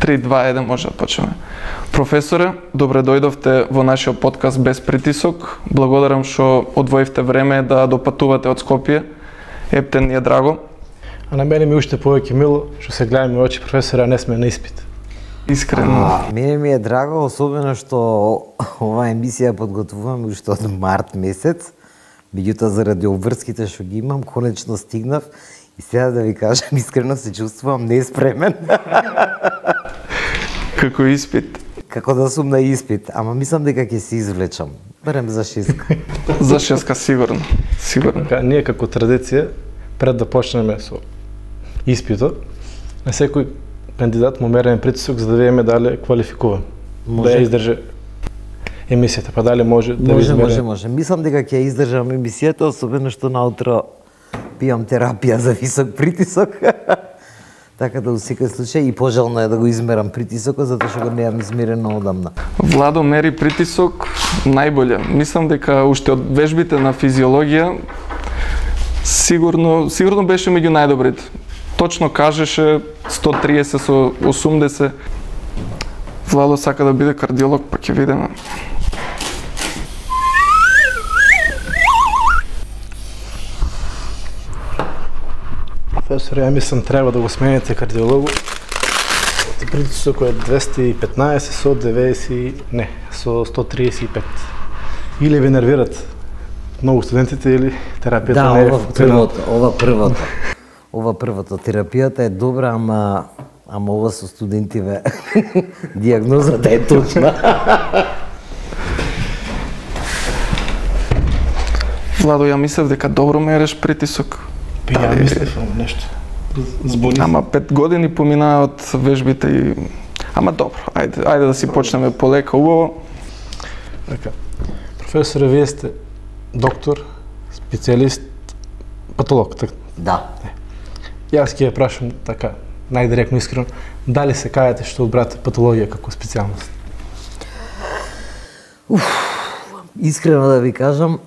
3, 2, 1 може да почнеме. Професоре, добре дојдовте во нашиот подкаст Без притисок. Благодарам што одвоивте време да допатувате од Скопје. Ептен ни е драго. А на мене ми уште повеќе мило што се гледаме очи, професоре, а не сме на испит. Искрено. Мене ми е драго, особено што оваа емисија подготвувам уште од март месец. Меѓутоа, заради обврските што ги имам, конечно стигнав и сега да ви кажам, искрено се чувствувам неспремен. Како испит? Како да сум на испит, ама мислам дека ќе се извлечам. Барем за 6. За 6 сигурно. Сигурно. Ние како традиција, пред да почнеме со испитот, на секој кандидат му мериме притисок за да видиме дали квалификува. Да ја издржи емисијата, па дали може да измере. Може. Мислам дека ќе издржам емисијата, особено што наутро пијам терапија за висок притисок. Така да, во секој случај, и пожелно е да го измерам притисокот, затоа што го немам измерено одамна. Владо мери притисок најболе. Мислам дека уште од вежбите на физиологија сигурно беше меѓу најдобрите. Точно кажеше 130 со 80. Владо сака да биде кардиолог, па ќе видиме. Професор, ја мислам треба да го смените кардиологу. Притисокот е 215 со 90, не, со 135. Или ви нервират многу студентите или терапијата не е функционална. Ова првото. Терапијата е добра, ама ова со студентиве дијагнозата е точна. Владо, ја мислев дека добро мереш притисок. Ја мислев нешто. Збуни. Ама 5 години поминаа од вежбите и... Ама добро, ајде да си почнеме полека, убаво. Така. Професоре, вие сте доктор, специјалист, патолог, така? Да. Јас ќе ја прашам така, најдиректно искрено, дали се кајате што одбрате патологија како специјалност? Искрено да ви кажам,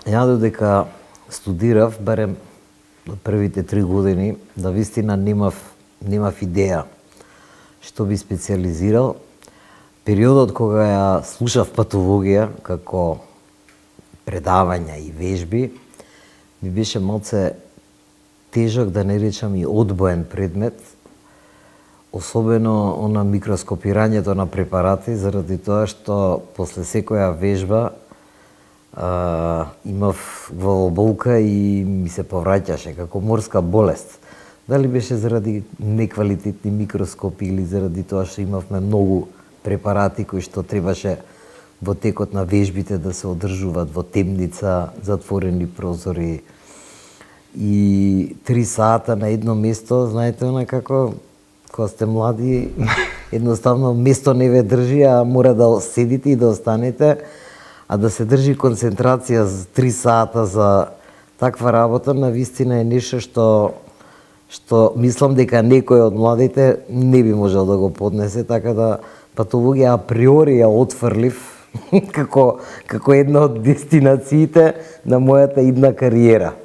ја додека студирав, барем од првите 3 години, да вистина немав идеја што би специјализирал. Периодот кога ја слушав патологија како предавања и вежби, ми беше малце тежок, да не речам и одбоен предмет, особено на микроскопирањето на препарати, заради тоа што после секоја вежба имав главоболка и ми се повраќаше како морска болест. Дали беше заради неквалитетни микроскопи или заради тоа што имавме многу препарати кои што требаше во текот на вежбите да се одржуваат во темница, затворени прозори и 3 сата на едно место, знаете, како кога сте млади, едноставно место не ве држи, а мора да седите и да останете, а да се држи концентрација за 3 сата за таква работа, навистина е нешто што мислам дека некој од младите не би можел да го поднесе, така да патологија априори ја отфрлив како една од дестинациите на мојата идна кариера.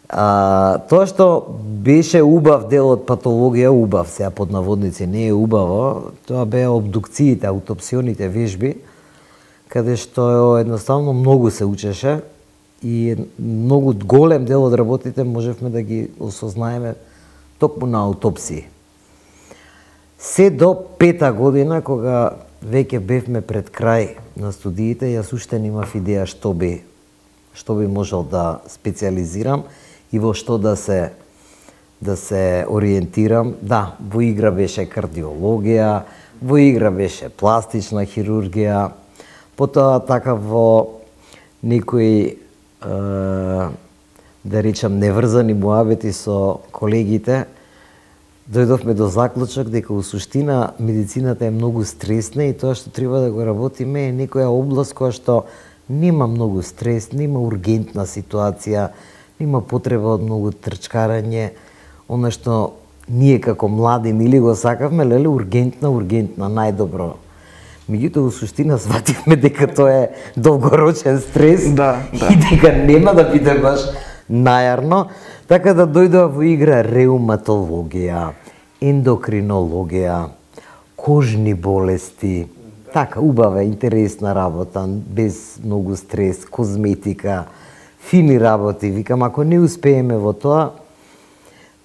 Тоа што беше убав дел од патологија, убав, сега под наводници не е убаво, тоа беа обдукциите, аутопсионите вежби, каде што едноставно многу се учеше и многу голем дел од работите можевме да ги осознаеме токму на аутопсии. Се до 5-та година, кога веќе бевме пред крај на студиите, јас уште немав идеја што би можел да специјализирам и во што да се ориентирам. Да, во игра беше кардиологија, во игра беше пластична хирургија, потоа така во некои да речам неврзани муабети со колегите, дојдовме до заклучок дека во суштина медицината е многу стресна и тоа што треба да го работиме е некоја област која што нема многу стрес, нема ургентна ситуација, нема потреба од многу трчкарање, она што ние како млади нели го сакавме, леле ургентна, најдобро. Меѓутоа, во суштина свативме дека тоа е долгорочен стрес и дека нема да биде баш најарно, така да дојдоа во игра реуматологија, ендокринологија, кожни болести, така убава, интересна работа, без многу стрес, козметика, фини работи. Викам, ако не успееме во тоа,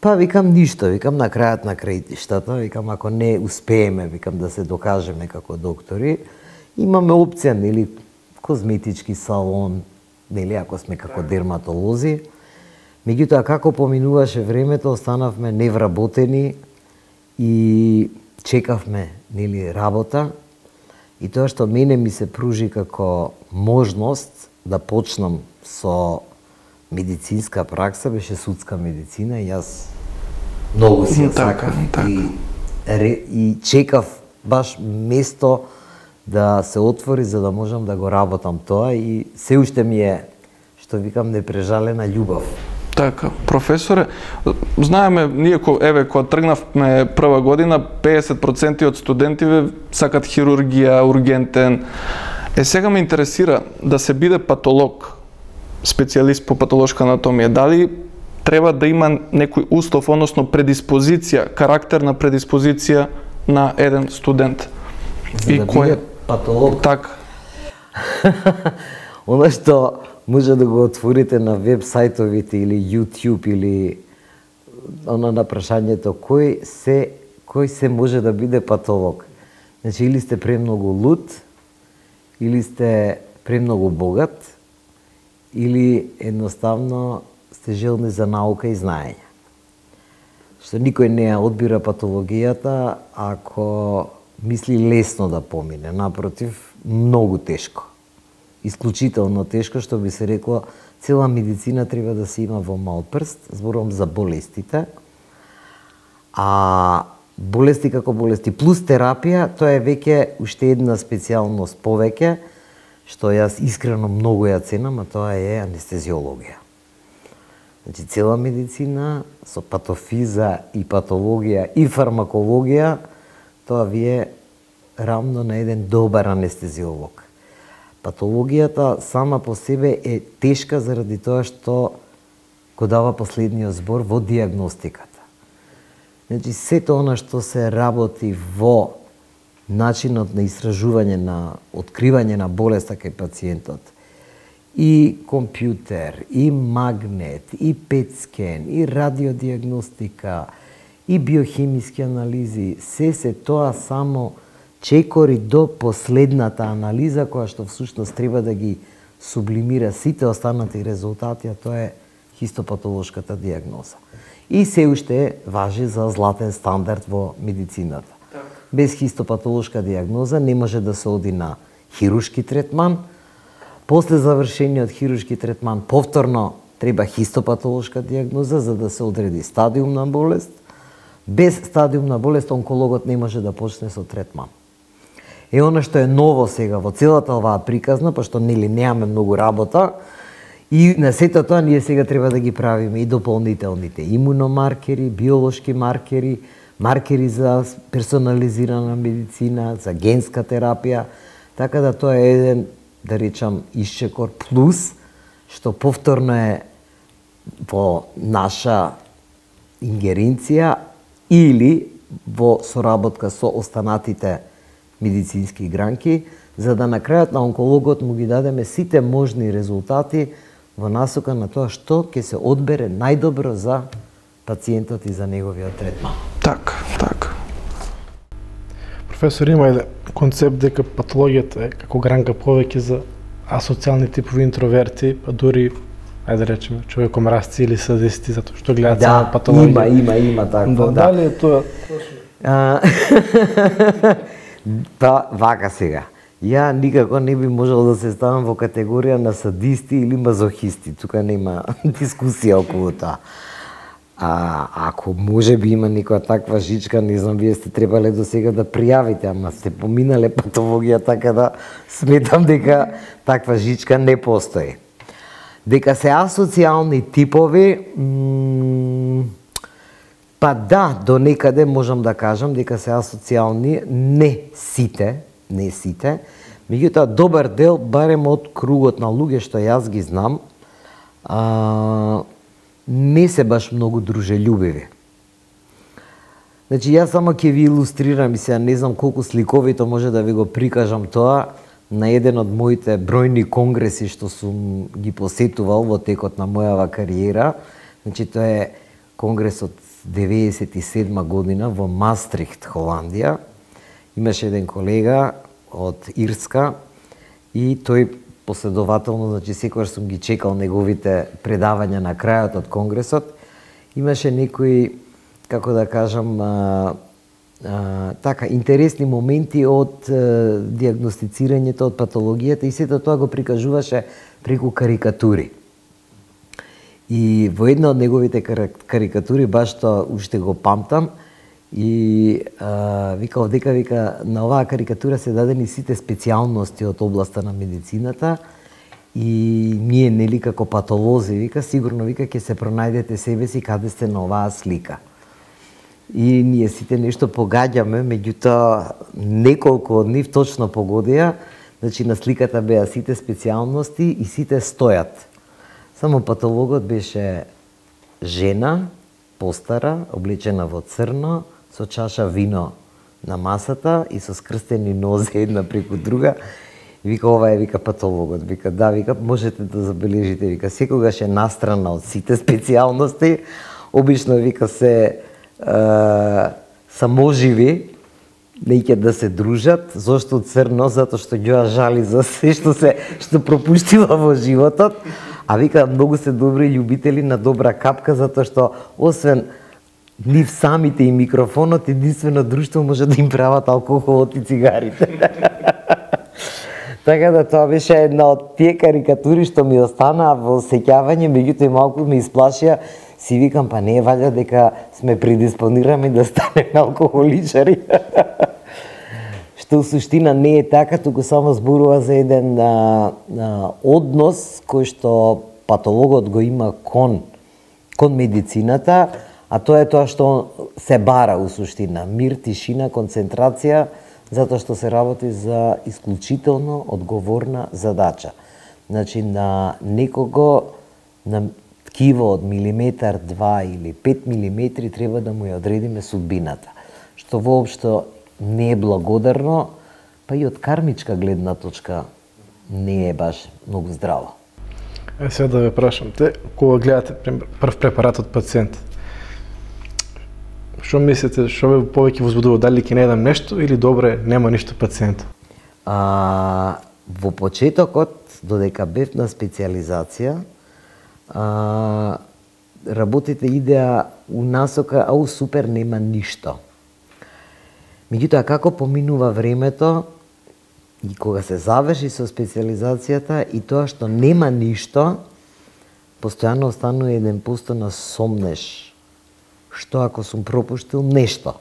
па викам ништо, викам на крајот на крајштата, викам ако не успееме, викам да се докажеме како доктори, имаме опција, нели, козметички салон, нели, ако сме како дерматолози. Меѓутоа, како поминуваше времето, останавме невработени и чекавме, нели, работа. И тоа што мене ми се пружи како можност да почнам со медицинска пракса, беше судска медицина и јас многу си ја сакав и чекав баш место да се отвори за да можам да го работам тоа и се уште ми е, што викам, непрежалена љубов. Така, професоре, знаеме, ние кога тргнавме прва година, 50% од студентиве сакат хирургија, ургентен. Сега ме интересира да се биде патолог, специјалист по патолошка анатомија, дали треба да има некој услов, односно предиспозиција, карактерна предиспозиција на еден студент? За да биде патолог? Така. Оно што може да го отворите на веб сајтовите или YouTube или на прашањето кој се може да биде патолог. Значи, или сте премногу луд, или сте премногу богат, или едноставно сте желни за наука и знаење. Што никој не ја одбира патологијата ако мисли лесно да помине, напротив, многу тешко. Исклучително тешко, што би се рекло, цела медицина треба да се има во мал прст, зборувам за болестите. А болести како болести плюс терапија, тоа е веќе уште една специјалност повеќе, што јас искрено многу ја ценам, а тоа е анестезиологија. Значи, цела медицина со патофиза и патологија и фармакологија, тоа ви е рамно на еден добар анестезиолог. Патологијата сама по себе е тешка заради тоа што го дава последниот збор во диагностиката. Значи, сето она што се работи во начинот на истражување, на откривање на болеста кај пациентот, и компјутер, и магнет, и пет-скен, и радиодиагностика, и биохимиски анализи, се тоа само чекори до последната анализа, која што всушност треба да ги сублимира сите останати резултати, а тоа е хистопатолошката диагноза. И се уште важи за златен стандард во медицината. Без хистопатолошка диагноза не може да се оди на хируршки третман. После завршениот хируршки третман повторно треба хистопатолошка диагноза за да се одреди стадиум на болест. Без стадиум на болест онкологот не може да почне со третман. Е она што е ново сега во целата оваа приказна, пошто нели немаме многу работа, и на сето тоа ние сега треба да ги правиме и дополнителните имуномаркери, биолошки маркери, маркери за персонализирана медицина, за генска терапија, така да тоа е еден, да речам, исчекор плюс, што повторно е во наша ингеренција или во соработка со останатите медицински гранки, за да на крајот на онкологот му ги дадеме сите можни резултати во насока на тоа што ќе се одбере најдобро за пациентот и за неговиот третман. Така, така. Професор, има еден концепт дека патологијата е како гранка повеќе за асоцијални типови интроверти, па дури, ајде речеме, човекомразци или садисти, затоа што гледаат само патологија. Има такво, да. Дали е тоа? Па, вака сега. Ја никако не би можел да се ставам во категорија на садисти или мазохисти. Тука нема дискусија околу тоа. Ако може би има некоја таква жичка, не знам, вие сте требале до сега да пријавите, ама сте поминале патологија, така да сметам дека таква жичка не постои. Дека се асоцијални типови, па да, до некаде можам да кажам дека се асоцијални, не сите, меѓутоа добар дел, барем од кругот на луѓе што јас ги знам, не се баш многу дружелюбиви. Значи, јас само ќе ви илустрирам и сега не знам колку сликовито може да ви го прикажам тоа на еден од моите бројни конгреси што сум ги посетувал во текот на мојава кариера. Значи, тоа е конгрес од 97 година во Мастрихт, Холандија. Имаше еден колега од Ирска и тој последователно, значи секогаш сум ги чекал неговите предавања на крајот од конгресот. Имаше некои, како да кажам, така интересни моменти од диагностицирањето, од патологијата и сето тоа го прикажуваше преку карикатури. И во една од неговите карикатури, баш тоа уште го памтам, и вика на оваа карикатура се дадени сите специјалности од областа на медицината и ние, нели, како патолози, вика, сигурно, вика, ќе се пронајдете себе си каде сте на оваа слика. И ние сите нешто погаѓаме, меѓутоа неколку од нив точно погодија, значи на сликата беа сите специјалности и сите стојат. Само патологот беше жена, постара, облечена во црно, со чаша вино на масата и со скрстени нозе една преку друга. Вика, ова е, вика, патологот. Вика, да, вика, можете да забележите, вика, секогаш е настрана од сите специјалности. Обично, вика, се саможиви, неќе да се дружат. Зошто црно? Затоа што ѓоа жали за се што пропуштила во животот. А вика, многу се добри љубители на добра капка, затоа што освен нив самите и микрофонот, единствено друштво може да им прават алкохолот и цигарите. Така да тоа беше една од тие карикатури што ми останаа во сеќавање, меѓутоа и малку ме исплашија. Си викам, па не е валја дека сме предиспонирани да станеме алкохоличари. Што у суштина не е така, туку само зборува за еден однос кој што патологот го има кон медицината, а тоа е тоа што се бара у суштина. Мир, тишина, концентрација, затоа што се работи за исклучително одговорна задача. Значи, на некого, на ткиво од милиметар, 2 или 5 милиметри треба да му ја одредиме судбината, што воопшто не е благодарно, па и од кармичка гледна точка не е баш многу здраво. Сега да ве прашам, те кога гледате прв препарат од пациент, што мислите, што ве повеќе возбудува, дали ќе не едам нешто или добре, нема ништо пациент? Во почетокот, додека бев на специјализација, работите идеа у насока, ау супер, нема ништо. Меѓутоа, како поминува времето и кога се заврши со специјализацијата и тоа што нема ништо, постојано останува еден пусто на сомнеш. Што ако сум пропуштил нешто?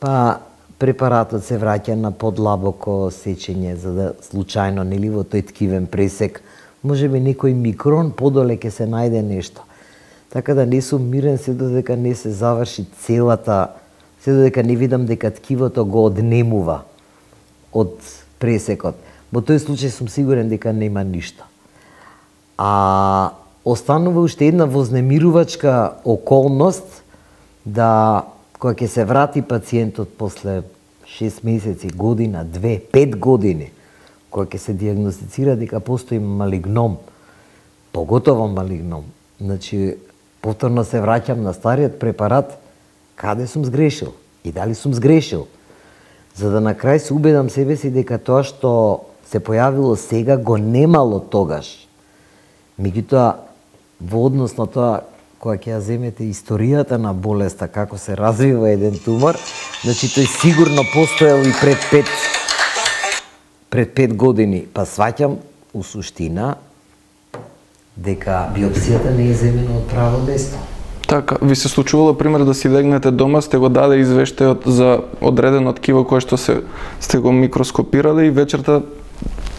Па препаратот се враќа на подлабоко сечење, за да случајно, нели, во тој ткивен пресек, може би некој микрон подоле ќе се најде нешто. Така да не сум мирен се додека не се заврши целата, се додека не видам дека ткивото го однемува од пресекот. Во тој случај сум сигурен дека нема ништо. А останува уште една вознемирувачка околност да кога ќе се врати пациентот после 6 месеци, година, 2, 5 години, кога ќе се диагностицира дека постои малигном, поготово малигном, значи повторно се враќам на стариот препарат, каде сум сгрешил и дали сум сгрешил, за да на крај се убедам себе си дека тоа што се појавило сега го немало тогаш. Меѓутоа, во однос на тоа, кога ќе ја земете историјата на болеста, како се развива еден тумор, значи тој сигурно постоел и пред 5 години. Па сваќам у суштина дека биопсијата не е земена од право место. Така, ви се случувало, пример, да си легнете дома, сте го даде извештајот за одредено ткиво кое што сте го микроскопирале и вечерта...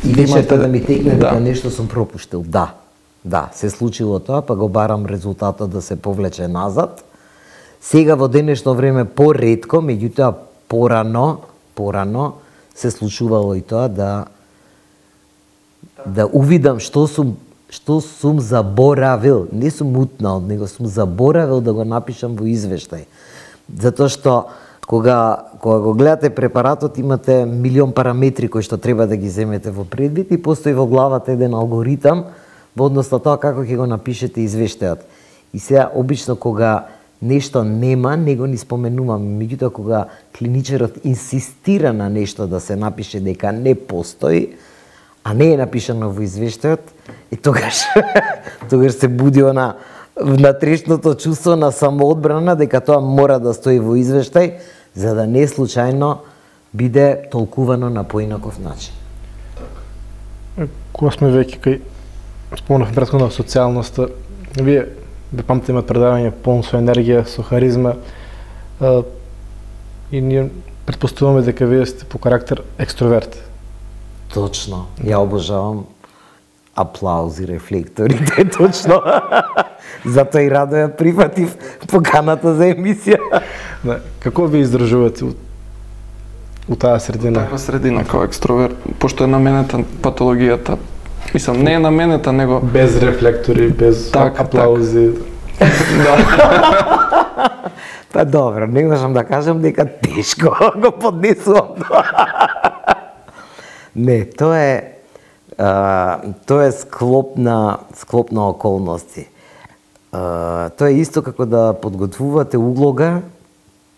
И вечерта да ми текне дека нешто сум пропуштил, да. Да, се случило тоа, па го барам резултатот да се повлече назад. Сега во денешно време поретко, меѓутоа порано се случувало и тоа да увидам што сум заборавил, не сум утнал, него сум заборавил да го напишам во извештај. Затоа што кога го гледате препаратот, имате милион параметри кои што треба да ги земете во предвид и постои во главата еден алгоритам во однос на тоа како ќе го напишете извештајот. И сега обично кога нешто нема, не го ни споменуваме, меѓутоа кога клиничарот инсистира на нешто да се напише дека не постои, а не е напишано во извештајот, и тогаш се буди она внатрешното чувство на самоодбрана дека тоа мора да стои во извештај, за да не случајно биде толкувано на поинаков начин. Кога сме веќе кај спомнавме претходно социјалноста, вие памтите имат предавање полно со енергија, со харизма, и ние претпоставуваме дека вие сте по карактер екстроверт. Точно. Ја обожавам аплаузи, рефлекторите, точно. Затоа и радо ја прифатив поканата за емисија. Да, како ви издржувате у таа средина? Таква средина како екстроверт, пошто е наменета патологијата. Мислам, не е наменета, него... Без рефлектори, без аплаузи. Да. Па добро, не можам да кажам дека тешко го поднесувам. Не, тоа е склоп на околности. Тоа е исто како да подготвувате улога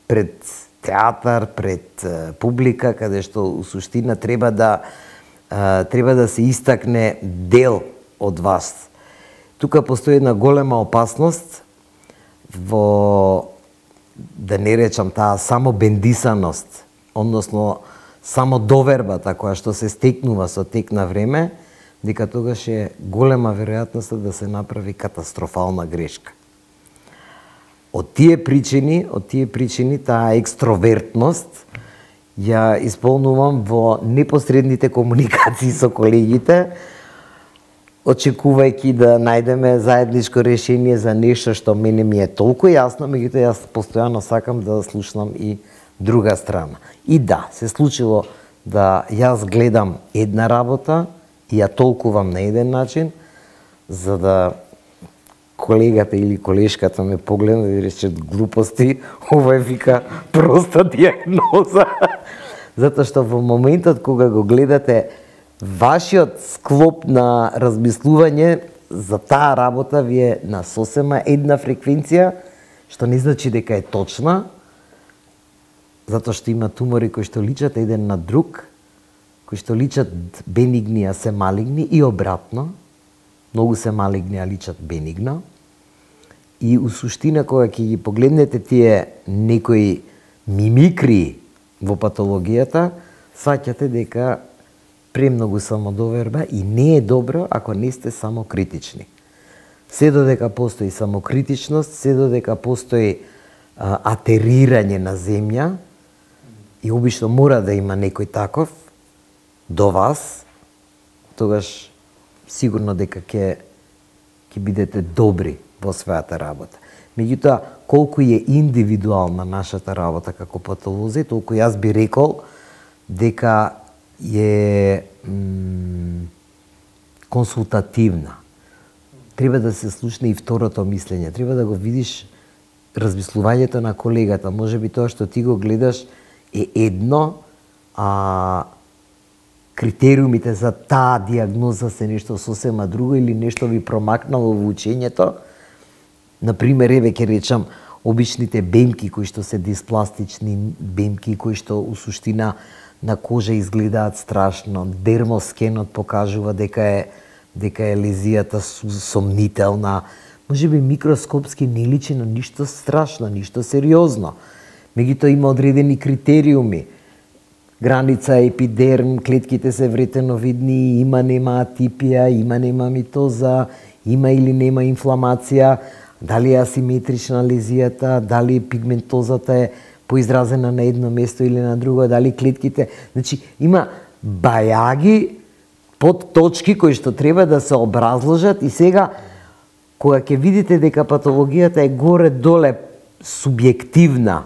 пред театар, пред публика, каде што у суштина треба да се истакне дел од вас. Тука постои една голема опасност во, да не речам таа самобендисаност, односно само довербата која што се стекнува со тек на време, дека тогаш е голема веројатност да се направи катастрофална грешка. Од тие причини таа екстровертност ја исполнувам во непосредните комуникации со колегите, очекувајќи да најдеме заедничко решение за нешто што мене ми е толку јасно, меѓутоа јас постојано сакам да слушнам и друга страна. И да, се случило да јас гледам една работа и ја толкувам на еден начин, за да колегата или колешката ме погледна и рече глупости, ова е вика проста диагноза. Затоа што во моментот кога го гледате вашиот склоп на размислување за таа работа ви е на сосема една фреквенција, што не значи дека е точна, затоа што има тумори кои што личат еден на друг, кои што личат бенигни, а се малигни, и обратно. Многу се малигни, а личат бенигно. И у суштина, кога ќе ги погледнете тие некои мимикри во патологијата, сваќате дека премногу самодоверба и не е добро ако не сте самокритични. Се додека постои самокритичност, се додека постои атерирање на земја, и обично мора да има некој таков до вас, тогаш сигурно дека ќе бидете добри во својата работа. Меѓутоа, колку е индивидуална нашата работа како патолози, толку јас би рекол дека е консултативна. Треба да се слушне и второто мислење, треба да го видиш размислувањето на колегата. Можеби тоа што ти го гледаш е едно, а критериумите за таа диагноза се нешто сосема друго или нешто ви промакнало во учењето. Например, еве ќе речам, обичните бемки кои што се диспластични бемки, кои што у суштина на кожа изгледаат страшно. Дермоскенот покажува дека е лезијата сомнителна. Можеби микроскопски не личи на ништо страшно, ништо сериозно. Меѓутоа има одредени критериуми. Граница епидерм, клетките се вретеновидни, има нема атипија, има нема митоза, има или нема инфламација, дали е асиметрична лезијата, дали пигментозата е поизразена на едно место или на друго, дали клетките... Значи, има бајаги под точки кои што треба да се образложат, и сега, кога ќе видите дека патологијата е горе-доле субјективна,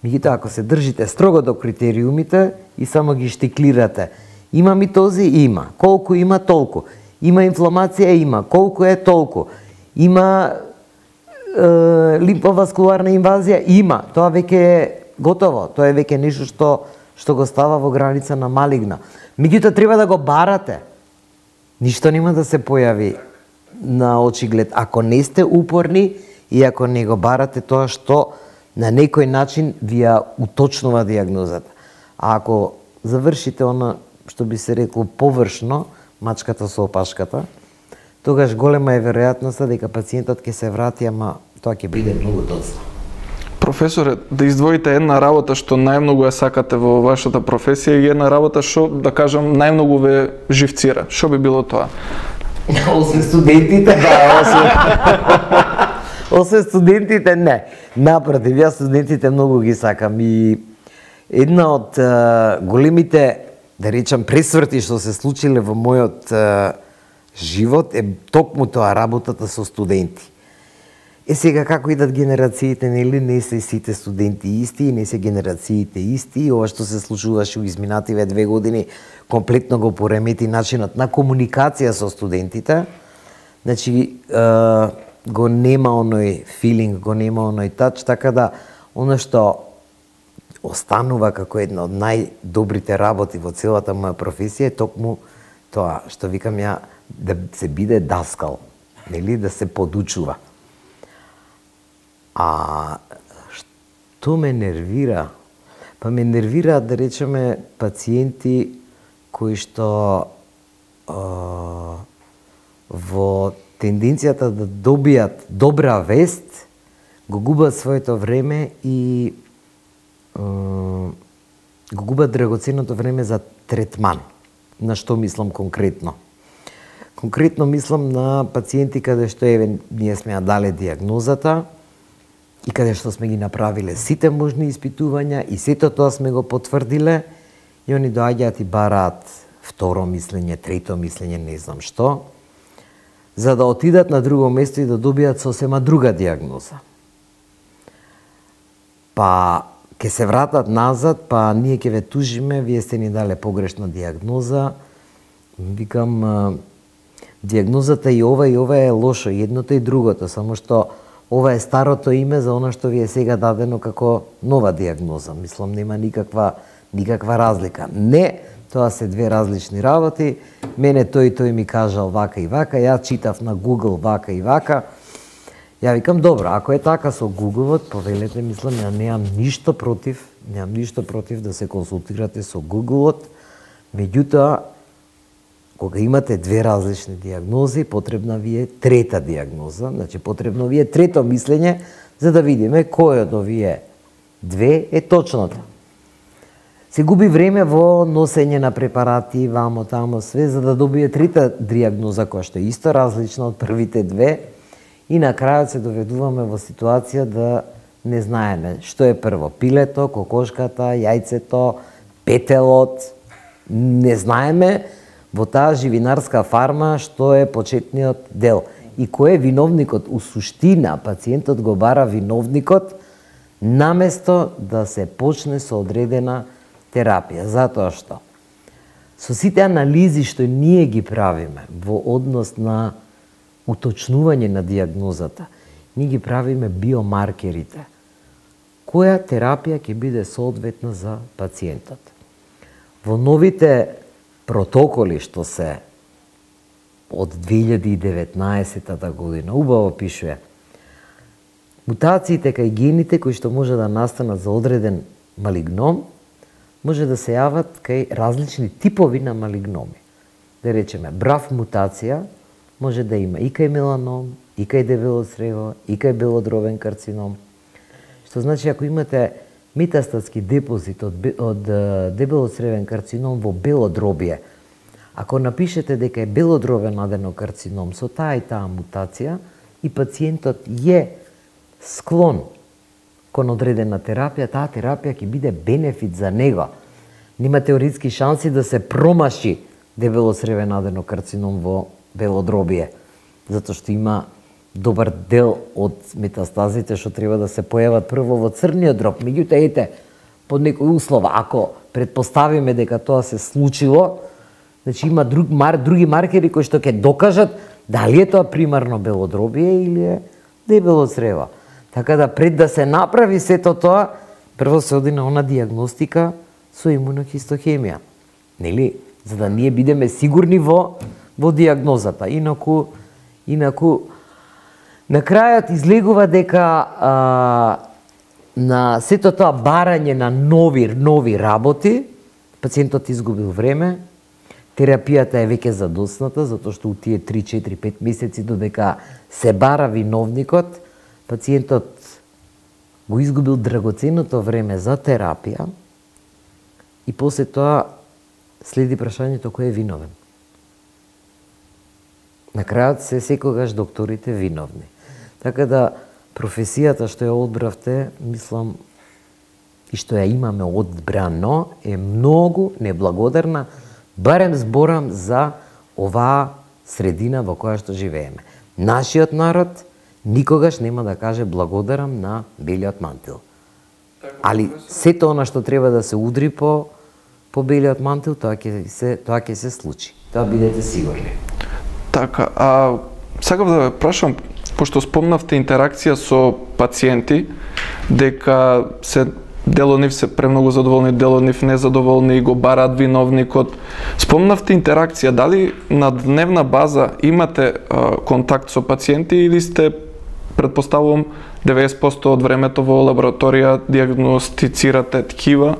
меѓутоа ако се држите строго до критериумите и само ги штиклирате, има митози? Има. Колку има? Толку. Има инфламација? Има. Колку е? Толку. Има лимфоваскуларна инвазија има, тоа веќе е готово, тоа е веќе нешто што го става во граница на малигна. Меѓутоа треба да го барате. Ништо нема да се појави на очиглед ако не сте упорни и ако не го барате тоа што на некој начин ви ја уточнува дијагнозата. А ако завршите она што би се рекло површно, мачката со опашката, тогаш голема е веројатноста дека пациентот ќе се врати, ама тоа ќе биде многу доцна. Професоре, да издвоите една работа што најмногу ја сакате во вашата професија и една работа што, да кажам, најмногу ве живцира. Што би било тоа? Освен студентите, да, освен студентите, не. Напротив, јас студентите многу ги сакам и една од големите, да речам, пресврти што се случиле во мојот живот е токму тоа, работата со студенти. Сега како идат генерациите, нели, не се сите студенти исти и не се генерациите исти, и ова што се случуваше во изминативе 2 години комплетно го поремети начинот на комуникација со студентите. Значи, го нема оној филинг, го нема оној тач, така да оно што останува како една од најдобрите работи во целата моја професија е токму тоа што викам ја, да се биде даскал, нели, да се подучува. А што ме нервира? Па ме нервира, да речеме, пациенти кои што во тенденцијата да добијат добра вест, го губат своето време и го губат драгоценното време за третман. На што мислам конкретно? Конкретно мислам на пациенти каде што ние сме ја дале дијагнозата и каде што сме ги направиле сите можни испитувања и сето тоа сме го потврдиле, и они доаѓаат и бараат второ мислење, трето мислење, не знам што, за да отидат на друго место и да добијат сосема друга дијагноза. Па ќе се вратат назад, па ние ќе ве тужиме, вие сте ни дале погрешна дијагноза. Викам, дијагнозата и ова е лошо, едното и другото, само што ова е старото име за она што ви е сега дадено како нова дијагноза. Мислам, нема никаква разлика. Не, тоа се две различни работи. Мене тој ми кажал вака и вака, ја читав на Google вака и вака. Ја викам, добро, ако е така со Google-от, повелете, мислам, ја немам ништо против да се консултирате со Google-от. Меѓутоа, кога имате две различни дијагнози, потребна ви е трета дијагноза, значи потребно ви е трето мислење, за да видиме кој од овие две е точната. Се губи време во носење на препарати, вамо, тамо, све, за да добие трета дијагноза, која што е исто различна од првите две, и на крајот се доведуваме во ситуација да не знаеме што е прво, пилето, кокошката, јајцето, петелот, не знаеме во таа живинарска фарма што е почетниот дел и кој е виновникот. У суштина, пациентот го бара виновникот наместо да се почне со одредена терапија, затоа што со сите анализи што ние ги правиме во однос на уточнување на дијагнозата, ние ги правиме биомаркерите. Која терапија ќе биде соодветна за пациентот? Во новите протоколи што се од 2019 година убаво пишува, мутациите кај гените кои што може да настанат за одреден малигном може да се јават кај различни типови на малигноми. Да речеме, брав мутација може да има и кај меланом, и кај дебело црево, и кај белодробен карцином. Што значи, ако имате метастатски депозит од дебелоцревен карцином во белодробие, ако напишете дека е белодробен аденокарцином со таа и таа мутација и пациентот е склон кон одредена терапија, таа терапија ќе биде бенефит за него. Нема теоретски шанси да се промаши дебелоцревен аденокарцином во белодробие, затоа што има добар дел од метастазите што треба да се појават прво во црниот дроб. Меѓутоа, ете, под некои услова, ако предпоставиме дека тоа се случило, значи има други маркери кои што ќе докажат дали е тоа примарно белодробие или е дебело црево. Така да пред да се направи сето тоа, прво се оди на она диагностика со имунохистохемија. Нели? За да ние бидеме сигурни во диагнозата. Инаку на крајот излегува дека на сето тоа барање на нови работи, пациентот изгубил време, терапијата е веќе задосната, затоа што у тие 3, 4, 5 месеци додека се бара виновникот, пациентот го изгубил драгоценното време за терапија и после тоа следи прашањето кој е виновен. На крајот се секогаш докторите виновни. Така да професијата што ја одбравте, мислам, и што ја имаме одбрано, е многу неблагодарна, барем зборам за оваа средина во која што живееме. Нашиот народ никогаш нема да каже благодарам на белиот мантил. Али сето она што треба да се удри по белиот мантил, тоа ќе се случи. Тоа бидете сигурни. Така, сакав да ве прашам, пошто спомнавте интеракција со пациенти, дека дел од нив се премногу задоволни, дел од нив незадоволни и го бараат виновникот. Спомнавте интеракција, дали на дневна база имате контакт со пациенти или сте, предпоставувам, 90% од времето во лабораторија диагностицирате ткива?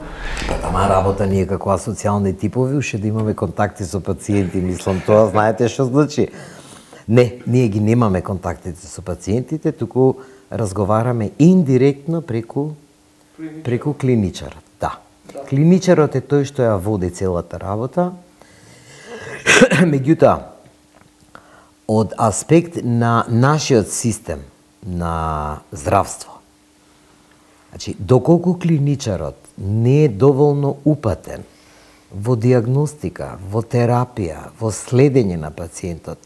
Тама работа ние како асоцијални типови, уште да имаме контакти со пациенти, мислам тоа, знаете што значи? Не, ние ги немаме контактите со пациентите, туку разговараме индиректно преку клиничарот. Да. Клиничарот е тој што ја води целата работа. Меѓутоа, од аспект на нашиот систем на здравство, значи, доколку клиничарот не е доволно упатен во диагностика, во терапија, во следење на пациентот,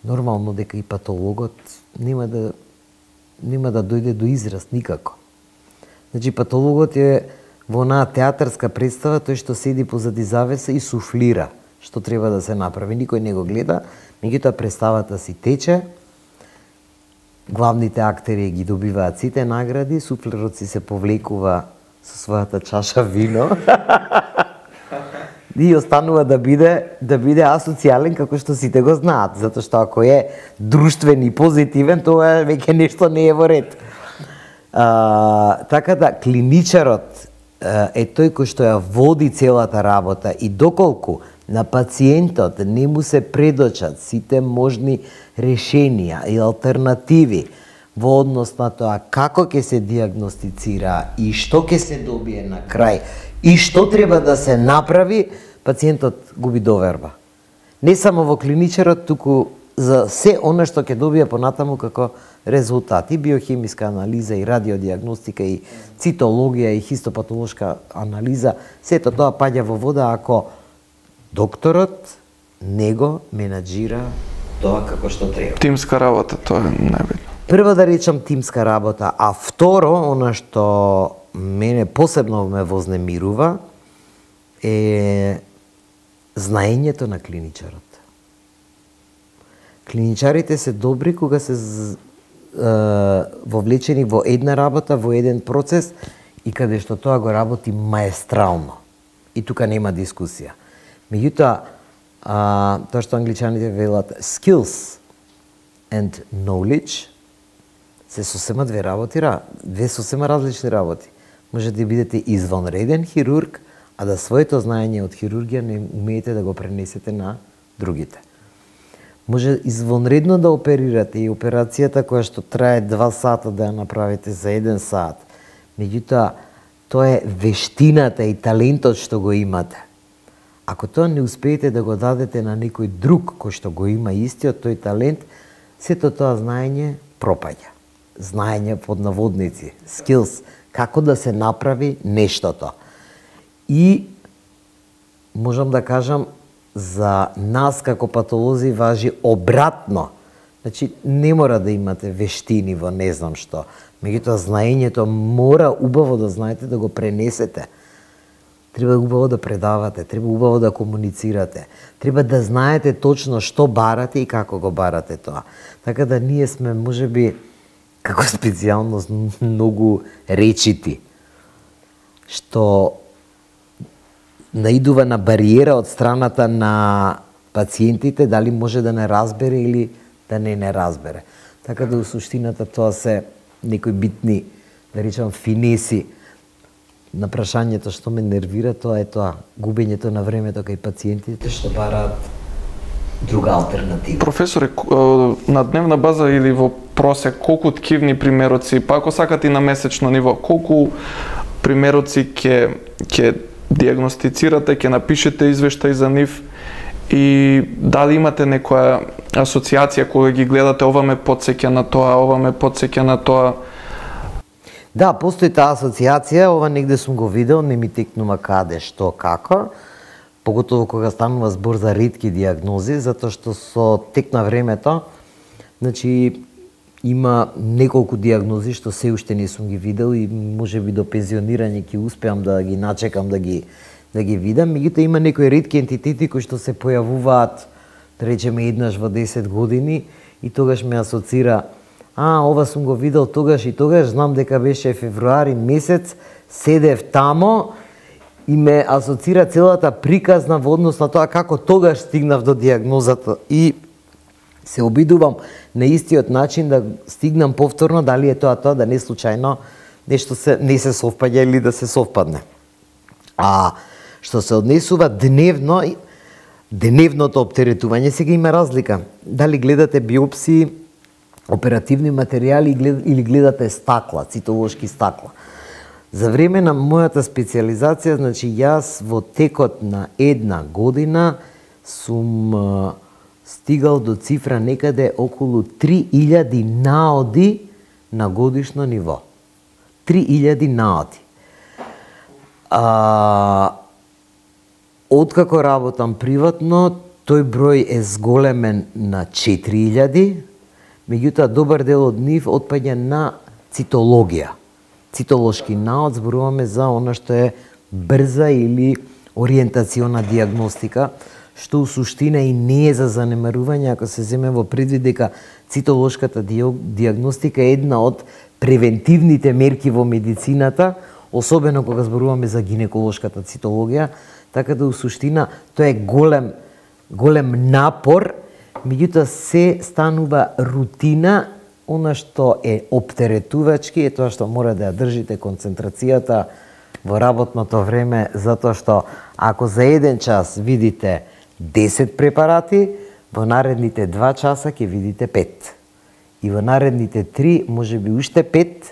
нормално дека и патологот нема да дојде до израз никако. Значи, патологот е во онаа театарска представа, тој што седи позади завеса и суфлира што треба да се направи. Никој не го гледа, меѓутоа представата си тече, главните актери ги добиваат сите награди, суфлерот си се повлекува со својата чаша вино и останува да биде асоцијален како што сите го знаат, затоа што ако е друштвен и позитивен, тоа веќе нешто не е во ред. Така да, клиничарот е тој кој што ја води целата работа и доколку на пациентот не му се предочат сите можни решенија и алтернативи во однос на тоа како ќе се диагностицира и што ќе се добие на крај и што треба да се направи, пациентот губи доверба. Не само во клиничарот, туку за се она што ќе добие понатаму како резултати, биохемиска анализа и радиодиагностика и цитологија и хистопатолошка анализа, сето тоа паѓа во вода ако докторот не го менаџира тоа како што треба. Тимска работа, тоа е најбитно. Прво да речам тимска работа, а второ, она што мене посебно ме вознемирува е знаењето на клиничарот. Клиничарите се добри кога се вовлечени во една работа, во еден процес и каде што тоа го работи маестрално. И тука нема дискусија. Меѓутоа, тоа што англичаните велат skills and knowledge се сосема две сосема различни работи. Може да бидете извонреден хирург, а да своето знаење од хирургија не умеете да го пренесете на другите. Може извонредно да оперирате и операцијата која што трае 2 сата да ја направите за 1 сат. Меѓутоа, тоа е вештината и талентот што го имате. Ако тоа не успеете да го дадете на некој друг кој што го има истиот тој талент, сето тоа знаење пропаѓа. Знаење под наводници, skills, како да се направи нештото. И можам да кажам, за нас како патолози важи обратно. Значи, не мора да имате вештини во не знам што. Меѓутоа, знаењето мора убаво да знаете да го пренесете. Треба убаво да предавате, треба убаво да комуницирате. Треба да знаете точно што барате и како го барате тоа. Така да ние сме, можеби, како специјалност многу речити, што наидува на бариера од страната на пациентите, дали може да не разбере или да не разбере. Така да, у суштината, тоа се некои битни, да речам, финеси на прашањето што ме нервира, тоа е тоа, губењето на времето кај пациентите што бараат друга алтернатива. Професоре, на дневна база или во просек, колку ткивни примероци, па ако сакате и на месечно ниво, колку примероци ќе диагностицирате, ќе напишете извештај за нив, и дали имате некоја асоциација кога ги гледате, ова ме потсеќа на тоа, ова ме потсеќа на тоа? Да, постои таа асоциација, ова негде сум го видел, не ми текнува каде, што, како, поготово кога станува збор за ретки диагнози, затоа што со тек на времето, значи, има неколку диагнози што се уште не сум ги видел и можеби до пензионирање ќе успеам да ги начекам да ги видам. Меѓутоа има некои ретки ентитети кои што се појавуваат, да речеме, еднаш во 10 години и тогаш ме асоцира, ова сум го видел тогаш и тогаш, знам дека беше февруари месец, седев тамо и ме асоцира целата приказна во однос на тоа како тогаш стигнав до диагнозата и се обидувам на истиот начин да стигнам повторно, дали е тоа да не случајно нешто не се совпаѓа или да се совпадне. А што се однесува дневното оптеретување, сега има разлика. Дали гледате биопсии, оперативни материјали или гледате стакла, цитолошки стакла. За време на мојата специјализација, значи јас во текот на една година сум стигал до цифра некаде околу 3000 наоди на годишно ниво. 3000 наоди. Откако работам приватно, тој број е зголемен на 4000, меѓутоа добар дел од нив отпаѓа на цитологија. Цитолошки наод зборуваме за она што е брза или ориентациона диагностика, што у суштина и не е за занемарување ако се земе во предвид дека цитолошката диагностика е една од превентивните мерки во медицината, особено кога зборуваме за гинеколошката цитологија, така да у суштина тоа е голем напор, меѓутоа се станува рутина, она што е оптеретувачки е тоа што мора да ја држите концентрацијата во работното време, затоа што ако за еден час видите 10 препарати, во наредните 2 часа ќе видите 5. И во наредните 3, можеби уште 5,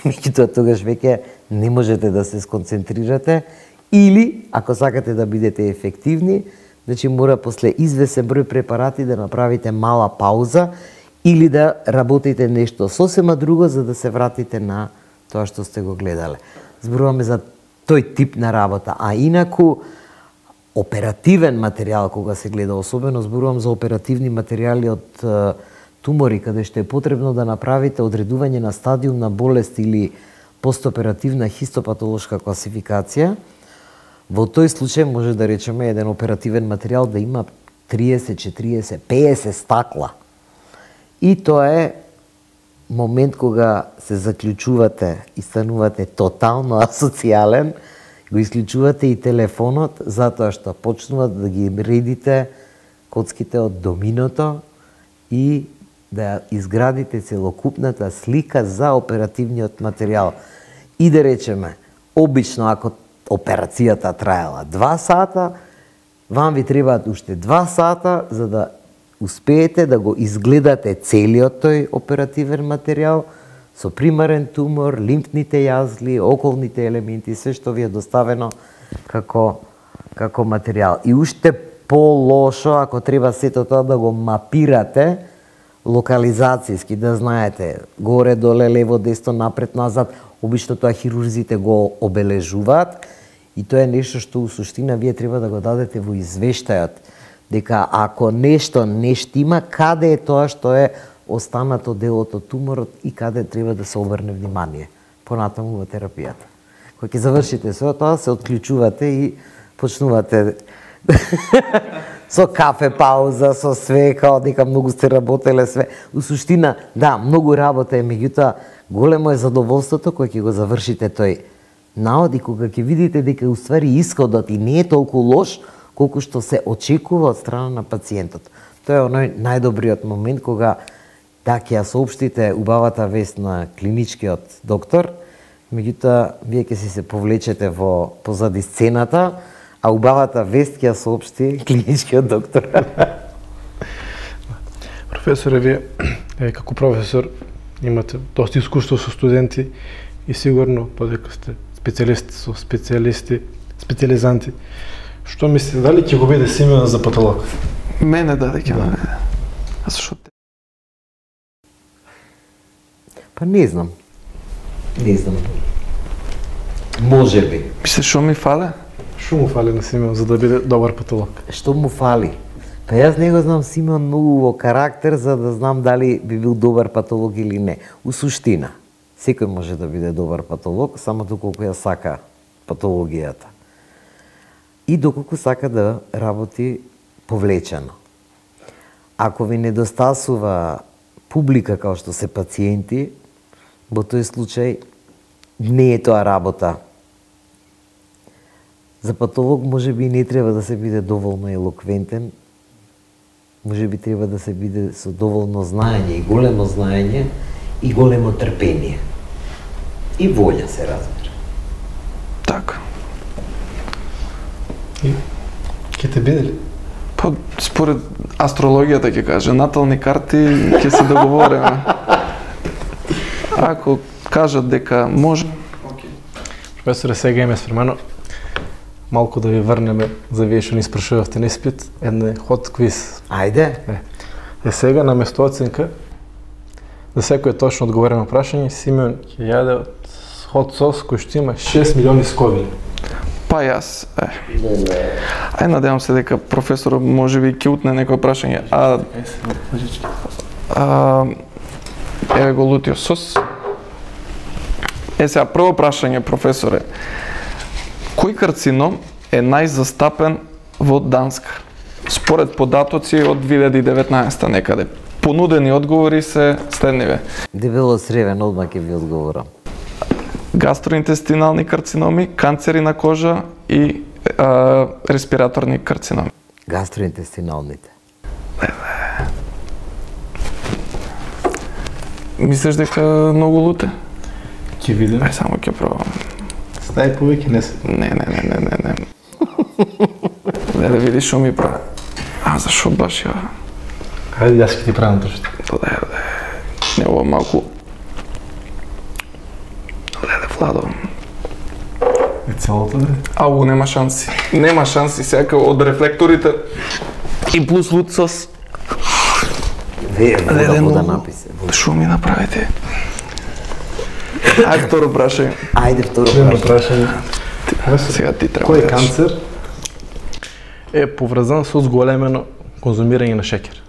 меѓутоа тогаш веќе не можете да се сконцентрирате, или, ако сакате да бидете ефективни, значи мора после извесен број препарати да направите мала пауза или да работите нешто сосема друго за да се вратите на тоа што сте го гледале. Зборуваме за тој тип на работа, а инаку оперативен материјал кога се гледа, особено зборувам за оперативни материјали од тумори каде што е потребно да направите одредување на стадиум на болест или постоперативна хистопатолошка класификација. Во тој случај може да речеме еден оперативен материјал да има 30, 40, 50 стакла. И тоа е момент кога се заклучувате и станувате тотално асоцијален, го исклучувате и телефонот, затоа што почнуват да ги редите коцките од доминото и да изградите целокупната слика за оперативниот материјал. И да речеме, обично ако операцијата траела 2 сата, вам ви требаат уште 2 сата за да успеете да го изгледате целиот тој оперативен материјал со примарен тумор, лимфните јазли, околните елементи, се што ви е доставено како материјал. И уште по-лошо ако треба сето тоа да го мапирате локализацијски, да знаете горе, доле, лево, десно, напред, назад. Обично тоа хирурзите го обележуваат и тоа е нешто што у суштина вие треба да го дадете во извештајот, дека ако нешто не штима, каде е тоа што е останато делот од туморот и каде треба да се обрне внимание понатаму во терапијата. Кога ќе завршите со тоа, се отклучувате и почнувате со кафе пауза, со све, као дека многу сте работеле све. У суштина, да, многу работа е, меѓутоа големо е задоволството кога ќе го завршите тој наод и кога ќе видите дека уствари исходот и не е толку лош колку што се очекува од страна на пациентот. Тоа е оној најдобриот момент кога да ќе ја соопштите убавата вест на клиничкиот доктор, меѓутоа вие ќе се повлечете во позади сцената, а убавата вест ќе ја соопшти клиничкиот доктор. Професоре, вие како професор имате доста искуство со студенти и сигурно подека сте специјалисти со специјализанти. Што мислите, дали ќе го биде Симеон за патолог? Мене даде ќе ме биде. А зашо те? Па не знам. Не знам. Може би. Мислиш што ми фале? Што му фали на Симеон за да биде добар патолог? Што му фали? Па јас не го знам Симеон многу во карактер за да знам дали би бил добар патолог или не. У суштина, секој може да биде добар патолог, само доколку ја сака патологијата. И доколку сака да работи повлечено. Ако ви недостасува публика као што се пациенти, во тој случај не е тоа работа. За патолог може би не треба да се биде доволно елоквентен, може би треба да се биде со доволно знаење и големо знаење и големо трпение. И волја, се разбира. Така. И ќе те биде ли? Па, според астрологијата ќе каже, натални карти ќе се договориме. Ако кажат дека може, окей. Професоре, сега име спремано малку да ви врнеме за вие што ни спрашувавте на испит, едне хот квиз. Ајде. Сега на место оценка за секој точно одговорено прашање, Симеон ќе јаде од хот сос кој што има 6 милиони сковили. Па јас, ај надевам се дека професорот може би ќе утне некој прашање. Еве го лутиот сос. Сега прво прашање, професоре. Кој карцином е најзастапен во Данска? Според податоци од 2019 некаде. Понудени одговори се следниве. Дебело сревен, одма ќе ви одговорам. Гастроинтестинални карциноми, канцери на кожа и респираторни карциноми. Гастроинтестиналните. Мислиш дека многу луте? Ќе видиме. Ај само ќе пробам. Стај повеќе не се. Не. Да видиш што ми прави. А зашо баш ја? Хајде јас ќе ти правам трошто. Не, ова малку. Владо. Е целото да? Ау, нема шанси. Нема шанси сега од рефлекторите и плюс лут сос. Вода написе. Шо ми направите? Ајде второ прашање. Ајде второ прашање. Сега ти треба. Кој канцер е поврзан со зголемено конзумирање на шеќер?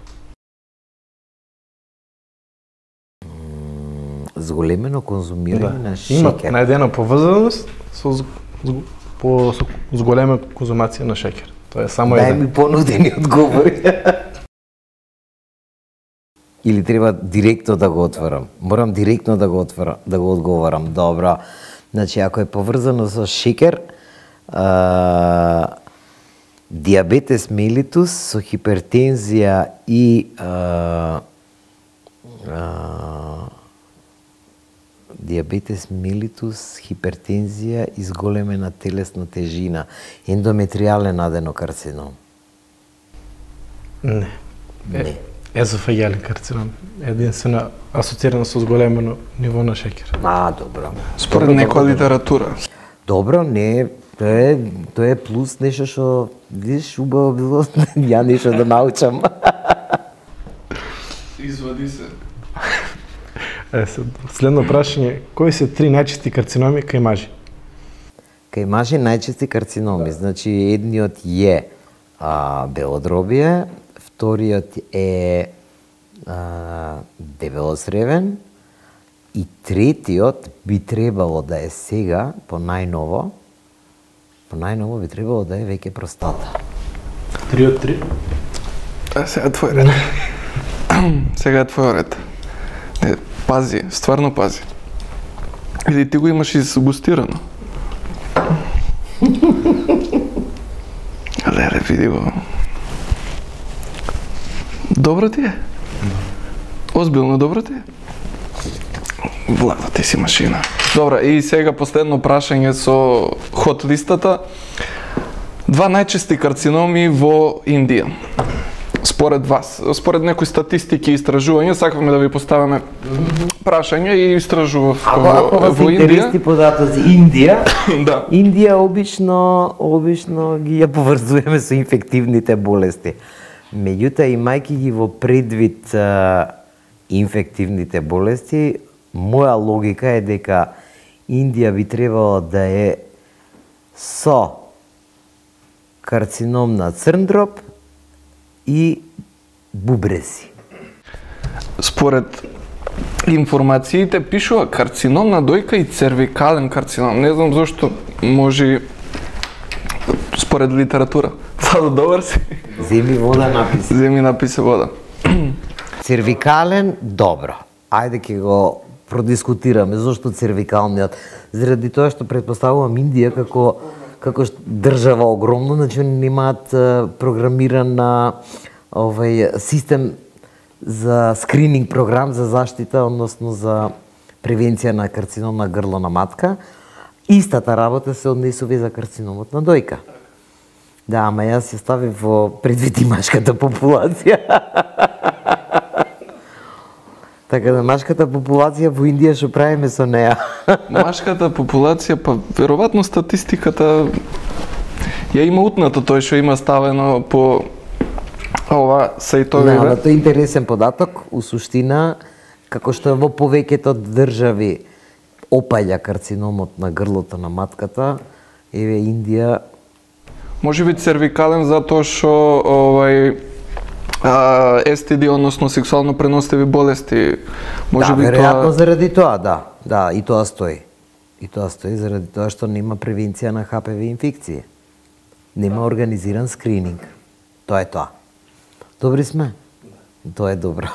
Зголемено конзумирање на шеќер. Има најдена поврзаност со зголемена конзумација на шеќер. Тоа е само Дај ми понудени одговори. Или треба директно да го отворам? Морам директно да го одговорам. Добро. Значи, ако е поврзано со шеќер, диабетес мелитус со хипертензија и диабетес мелитус, хипертензија и зголемена телесна тежина, ендометриален аденокарцином. Не. Не. Езофагиален карцином. Единствено асоцирано со зголемено ниво на шеќер. Добро. Според некоја литература. Добро, не, тоа е плюс нешто што, видиш, убаво било ја нешто да научам. Извади се. Следно прашање, кои се 3 најчести карциноми кај мажи? Кај мажи најчести карциноми, значи едниот е белодробие, вториот е дебелосревен и третиот би требало да е сега, по најново би требало да е веќе простата. 3 од 3. Сега е твој ред. Сега е твој ред. Пази, стварно пази. Или ти го имаш изгустирано? Леле, види го. Добро ти е? Озбилно добро ти е? Влада, ти си машина. Добра, и сега последно прашање со хот листата. 2 најчести карциноми во Индија. Според вас, според некои статистики и истражувања, сакавме да ви поставиме прашање и истражував Ако вас интересни податоци Индија, да. Индија обично ги ја поврзуваме со инфективните болести. Меѓутоа, имајќи ги во предвид инфективните болести, моја логика е дека Индија би требало да е со карцином на црн дроб и бубреси. Според информациите пишува карцином на дојка и цервикален карцином. Не знам зошто, може според литература. Владо, добар си? Земи вода написи. Земи написе вода. Цервикален, добро. Ајде ќе го продискутираме зошто цервикалниот. Заради тоа што претпоставувам Индија како држава огромно, значи они немаат програмиран систем за скрининг програм за заштита, односно за превенција на карцином на грло на матка. Истата работа се однесува и за карциномот на дојка. Да, ама јас ја ставив во предвид и машката популација. Така да, машката популација во Индија што правиме со неа? Машката популација, па веројатно статистиката ја има утнато тој што има ставено по ова сајтовиве. Да, тоа е интересен податок, у суштина, како што во повеќето држави опаѓа карциномот на грлото на матката, еве Индија. Може би цервикален затоа што STD, односно сексуално преносливи болести. Може би веројатно заради тоа, да. Да, и тоа стои. И тоа стои заради тоа што нема превенција на ХПВ инфекција. Нема организиран скрининг. Тоа е тоа. Добри сме? Тоа е добро.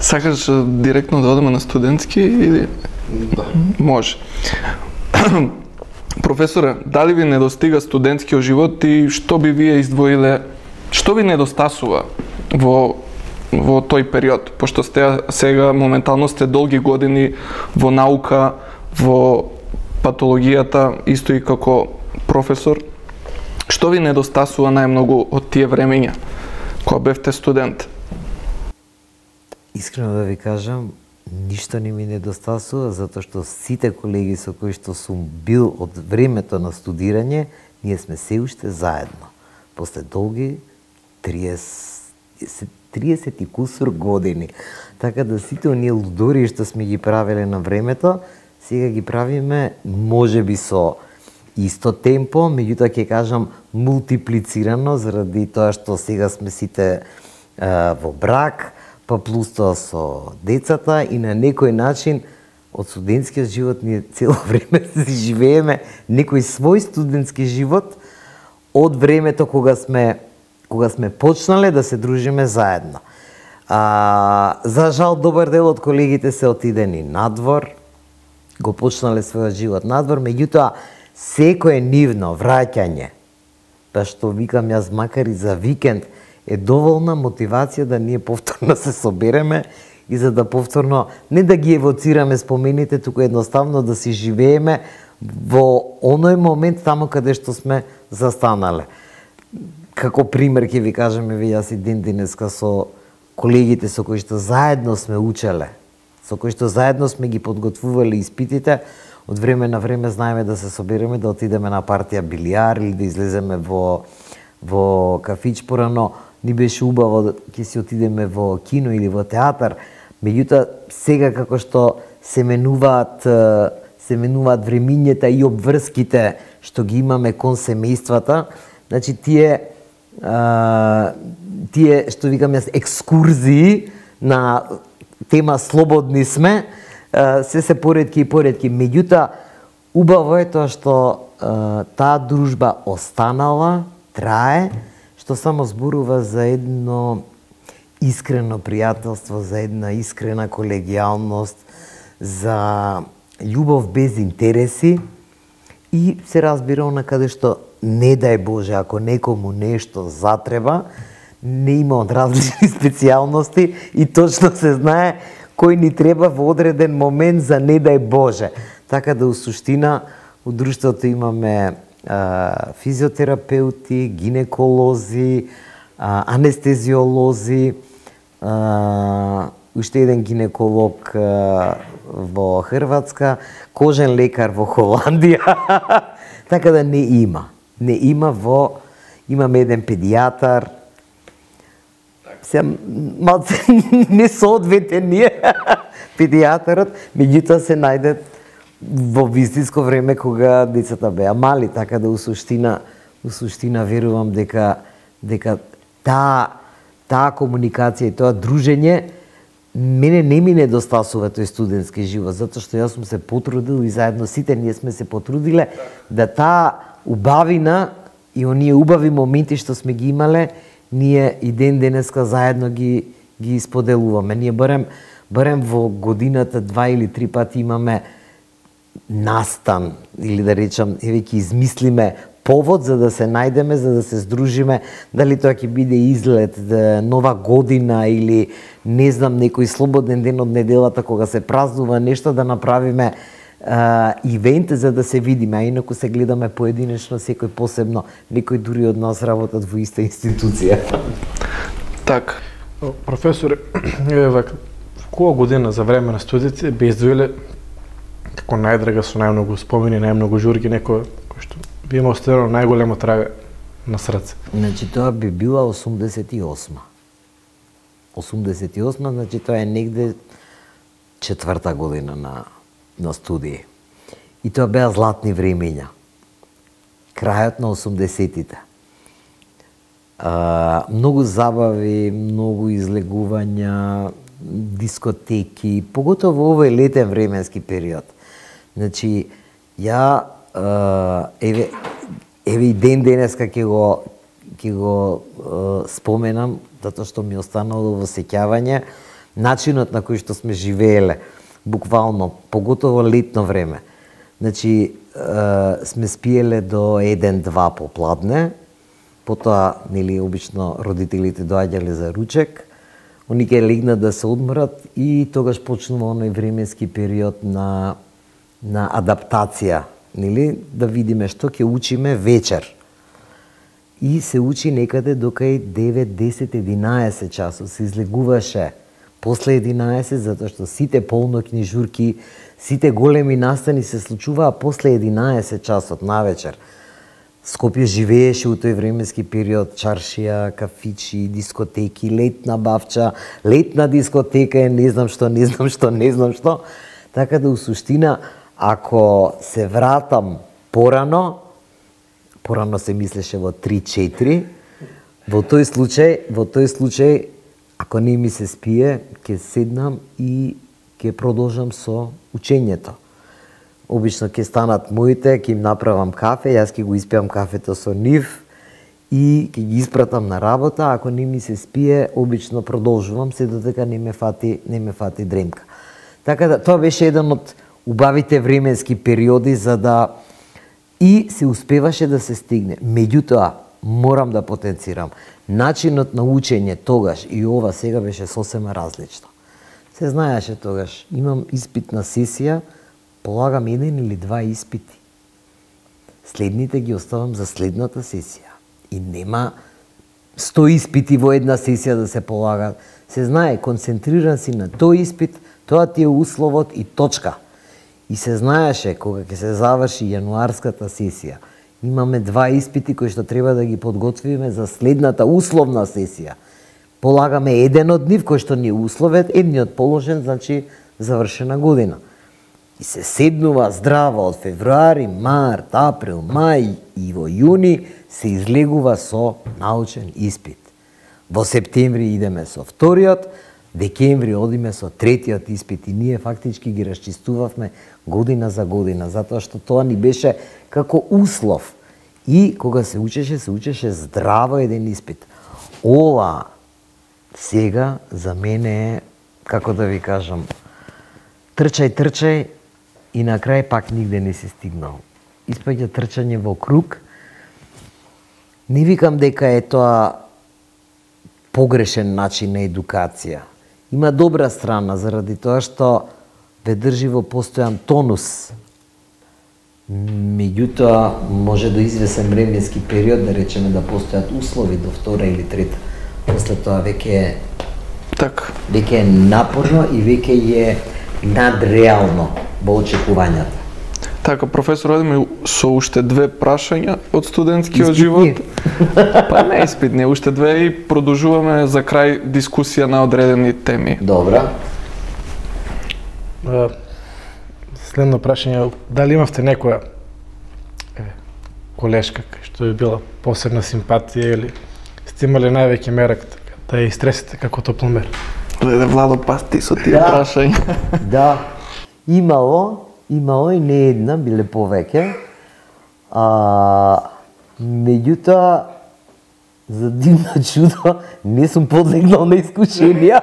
Сакаш директно да одиме на студентски или? Да. Може. Професоре, дали ви недостига студентскиот живот и што би вие издвоиле, што ви недостасува во тој период, пошто сте сега моментално сте долги години во наука, во патологијата, исто и како професор. Што ви недостасува најмногу од тие времења кога бевте студент? Искрено да ви кажам, ништо не ми недостасува, затоа што сите колеги со кои што сум бил од времето на студирање, ние сме се уште заедно. После долги 30 и кусур години. Така да сите оние лудори што сме ги правеле на времето, сега ги правиме можеби со исто темпо, меѓутоа ќе кажам мултиплицирано, заради тоа што сега сме сите во брак, па плюс тоа со децата и на некој начин од студентскиот живот ние цело време си живееме некој свој студентски живот од времето кога сме почнале да се дружиме заедно. За жал, добар дел од колегите се отидени надвор, го почнале својот живот надвор, меѓутоа секое нивно враќање, па што викам јас, макар и за викенд, е доволна мотивација да ние повторно се собереме и за да повторно не да ги евоцираме спомените, туку едноставно да си живееме во оној момент таму каде што сме застанале. Како пример ќе ви кажам, јас и ден денеска со колегите со кои што заедно сме учеле, со кои што заедно сме ги подготвувале испитите, од време на време знаеме да се собереме, да отидеме на партија билиар или да излеземе во кафич, порано ни беше убаво ќе си отидеме во кино или во театар, меѓутоа сега како што се менуваат времињата и обврските што ги имаме кон семејствата, значи тие што викам јас екскурзии на тема слободни сме, се поретки и поретки. Меѓутоа, убаво е тоа што таа дружба останала трае, што само зборува за едно искрено пријателство, за една искрена колегијалност, за љубов без интереси и се разбира каде што не дај Боже, ако некому нешто затреба, не има од различни специјалности и точно се знае кој ни треба во одреден момент за не дај Боже. Така да, у суштина, у друштвото имаме физиотерапеути, гинеколози, анестезиолози, уште еден гинеколог во Хрватска, кожен лекар во Холандија. Така да не има. Не има имаме еден педијатар. Се малце не соодветен ние педијатарот, меѓутоа се најде во вистинско време кога децата беа мали, така да у суштина верувам дека таа комуникација и тоа дружење мене не ми недостасува тој студентски живот, затоа што јас сум се потрудил и заедно сите ние сме се потрудиле да таа убавина и оние убави моменти што сме ги имале, ние и ден денеска заедно ги споделуваме. Ние барем во годината 2 или 3 пати имаме настан, или да речам, ќе измислиме повод за да се најдеме, за да се здружиме, дали тоа ќе биде излет, нова година или не знам, некој слободен ден од неделата кога се празнува нешто, да направиме ивент за да се видиме, а инаку се гледаме поединечно, секој посебно, некој дури од нас работат во иста институција. Так. Професоре, во која година за време на студиите би издвоиле како најдрага со најмногу спомени, најмногу журки, некој кој што би има оставено најголема трага на срце? Значи тоа би била 88. 88, значи тоа е негде 4-та година на студии. И тоа беа златни времења. Крајот на 80-тите. Многу забави, многу излегувања, дискотеки, поготово во овој летен временски период. Значи, ја еве и ден денеска ќе го споменам, затоа што ми останало во сеќавање начинот на кој што сме живееле, буквално, поготово летно време. Значи, сме спиеле до 1-2 попладне, потоа, нели, обично родителите доаѓале за ручек, они ќе легнат да се одморат и тогаш почнува оној временски период на адаптација, нели, да видиме што ќе учиме вечер. И се учи некаде докај 9, 10, 11 часот, се излегуваше после 11, затоа што сите полноќни журки, сите големи настани се случуваа после 11 часот навечер. Скопје живееше у тој временски период, чаршија, кафичи, дискотеки, летна бавча, летна дискотека, не знам што. Така да, у суштина, ако се вратам порано се мислеше во 3-4, во тој случај, ако не ми се спие, ќе седнам и ќе продолжам со учењето. Обично ќе станат моите, ќе им направам кафе, јас ќе го испијам кафето со нив и ќе ги испратам на работа. Ако не ми се спие, обично продолжувам се додека не ме фати дремка. Така да, тоа беше еден од убавите временски периоди за да и се успеваше да се стигне. Меѓутоа, морам да потенцирам, начинот на учење тогаш и ова сега беше сосема различно. Се знаеше тогаш, имам испитна сесија, полагам 1 или 2 испити. Следните ги оставам за следната сесија. И нема 100 испити во една сесија да се полагат. Се знае, концентриран си на тој испит, тоа ти е условот и точка. И се знаеше, кога ќе се заврши јануарската сесија, имаме 2 испити кои што треба да ги подготвиме за следната условна сесија. Полагаме еден од нив кој што ни е условет, едниот положен, значи завршена година. И се седнува здраво од февруари, март, април, мај и во јуни се излегува со научен испит. Во септември идеме со вториот, декември одиме со третиот испит и ние фактички ги расчистувавме година за година, затоа што тоа ни беше како услов. И кога се учеше здраво еден испит. Ова сега за мене е, како да ви кажам, трчај и на крај пак нигде не си стигнал. Испаѓа трчање во круг. Не викам дека е тоа погрешен начин на едукација. Има добра страна заради тоа што ве држи во постојан тонус. Меѓутоа, може до извесен временски период, да речеме, да постојат услови до втора или трета. После тоа веќе е напорно и веќе е надреално во очекувањата. Така, професор, одиме со уште две прашања од студентскиот живот. Па не испитни, уште две и продолжуваме за крај дискусија на одредени теми. Добра. Следно прашање, дали имавте некоја колешка што е била посебна симпатија или сте имале највеќе мерак да ја истресете како топломер? Леде, Владо, пас ти со тие прашања. Да, имало и не една, биле повеќе. Меѓутоа, за дивно чудо, не сум подлегнал на искушенија.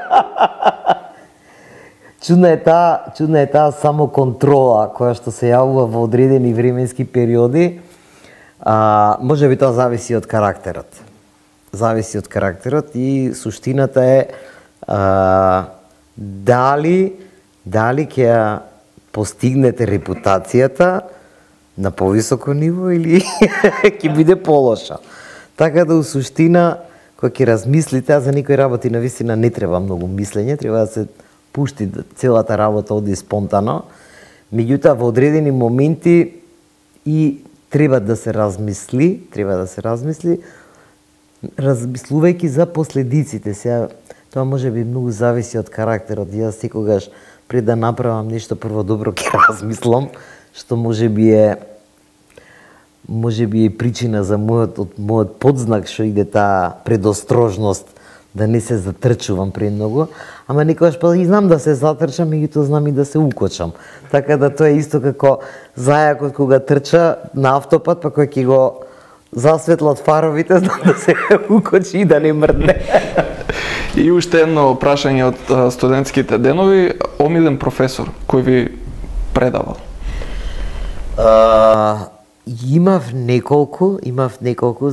Чудна е таа самоконтрола која што се јавува во одредени временски периоди. Може би тоа зависи од карактерот. Зависи од карактерот и суштината е дали ќе ја постигнете репутацијата на повисоко ниво или ќе биде полоша. Така да, у суштина, кога ќе размислите, а за некои работи навистина не треба многу мислење, треба да се пушти целата работа оди спонтано. Меѓутоа, во одредени моменти и треба да се размисли, размислувајќи за последиците. Сега, тоа може би многу зависи од карактерот. Јас секогаш пред да направам нешто прво добро ќе размислам, што може би е причина за мојот подзнак што иде таа предострожност да не се затрчувам премногу, ама некогаш па и знам да се затрчам, меѓутоа знам и да се укочам. Така да тоа е исто како зајакот кога трча на автопат, па кој ќе го засветлат фаровите, знам да се укочи и да не мрдне. И уште едно прашање од студентските денови, омилен професор кој ви предавал? Имав неколку,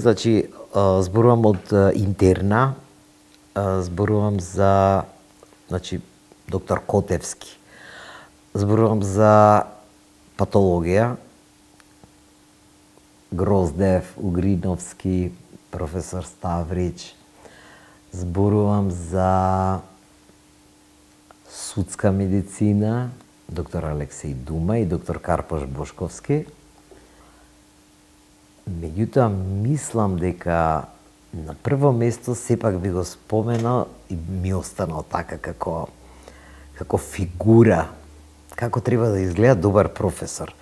значи зборувам од интерна, зборувам за, значи, доктор Котевски, зборувам за патологија, Гроздев, Угриновски, професор Ставрич, зборувам за судска медицина, доктор Алексеј Дума и доктор Карпош Бошковски. Меѓутоа, мислам дека на прво место сепак би го споменал и ми останал така како фигура, како треба да изгледа добар професор.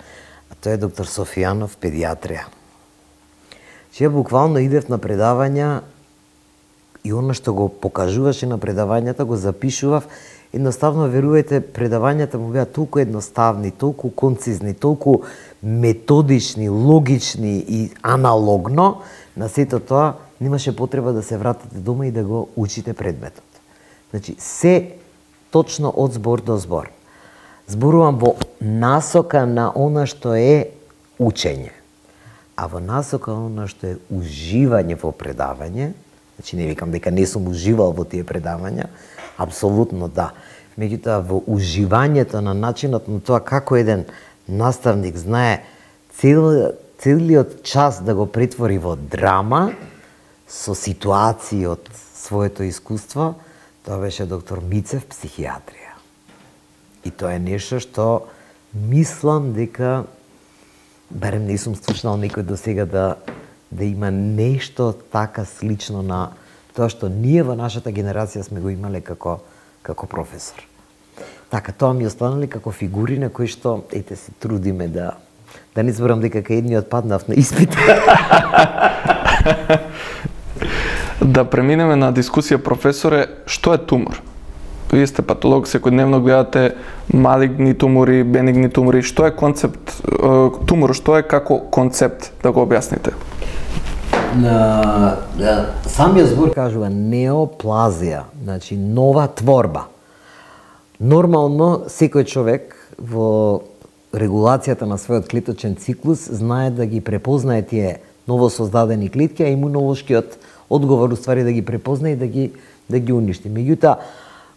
А тоа е доктор Софијанов, педиатрија. Че ја буквално идев на предавања и она што го покажуваше на предавањата го запишував. Едноставно, верувајте, предавањата му беа толку едноставни, толку концизни, толку методични, логични и аналогно, на сето тоа немаше потреба да се вратите дома и да го учите предметот. Значи, се точно од збор до збор. Зборувам во насока на она што е учење. А во насока на она што е уживање во предавање, значи не викам дека не сум уживал во тие предавања, апсолутно да. Меѓутоа, во уживањето на начинот на тоа како еден наставник знае целиот час да го претвори во драма со ситуации од своето искуство, тоа беше доктор Мицев, психијатрија. И тоа е нешто што мислам дека, барем не сум слушнал некој до сега да има нешто така слично на тоа што ние во нашата генерација сме го имале како професор. Така, тоа ми останали како фигури на кои што, ете, се трудиме да не зборам дека кај едниот паднав на испит. Да преминеме на дискусија, професоре, што е тумор? Вие сте патолог, секојдневно гледате малигни тумори, бенигни тумори. Што е концепт тумор? Што е како концепт, да го објасните? Самиот збор кажува неоплазија, значи нова творба. Нормално секој човек во регулацијата на својот клеточен циклус знае да ги препознае тие новосоздадени клетки, а имунолошкиот одговор уствари да ги препознае и да ги уништи. Меѓутоа,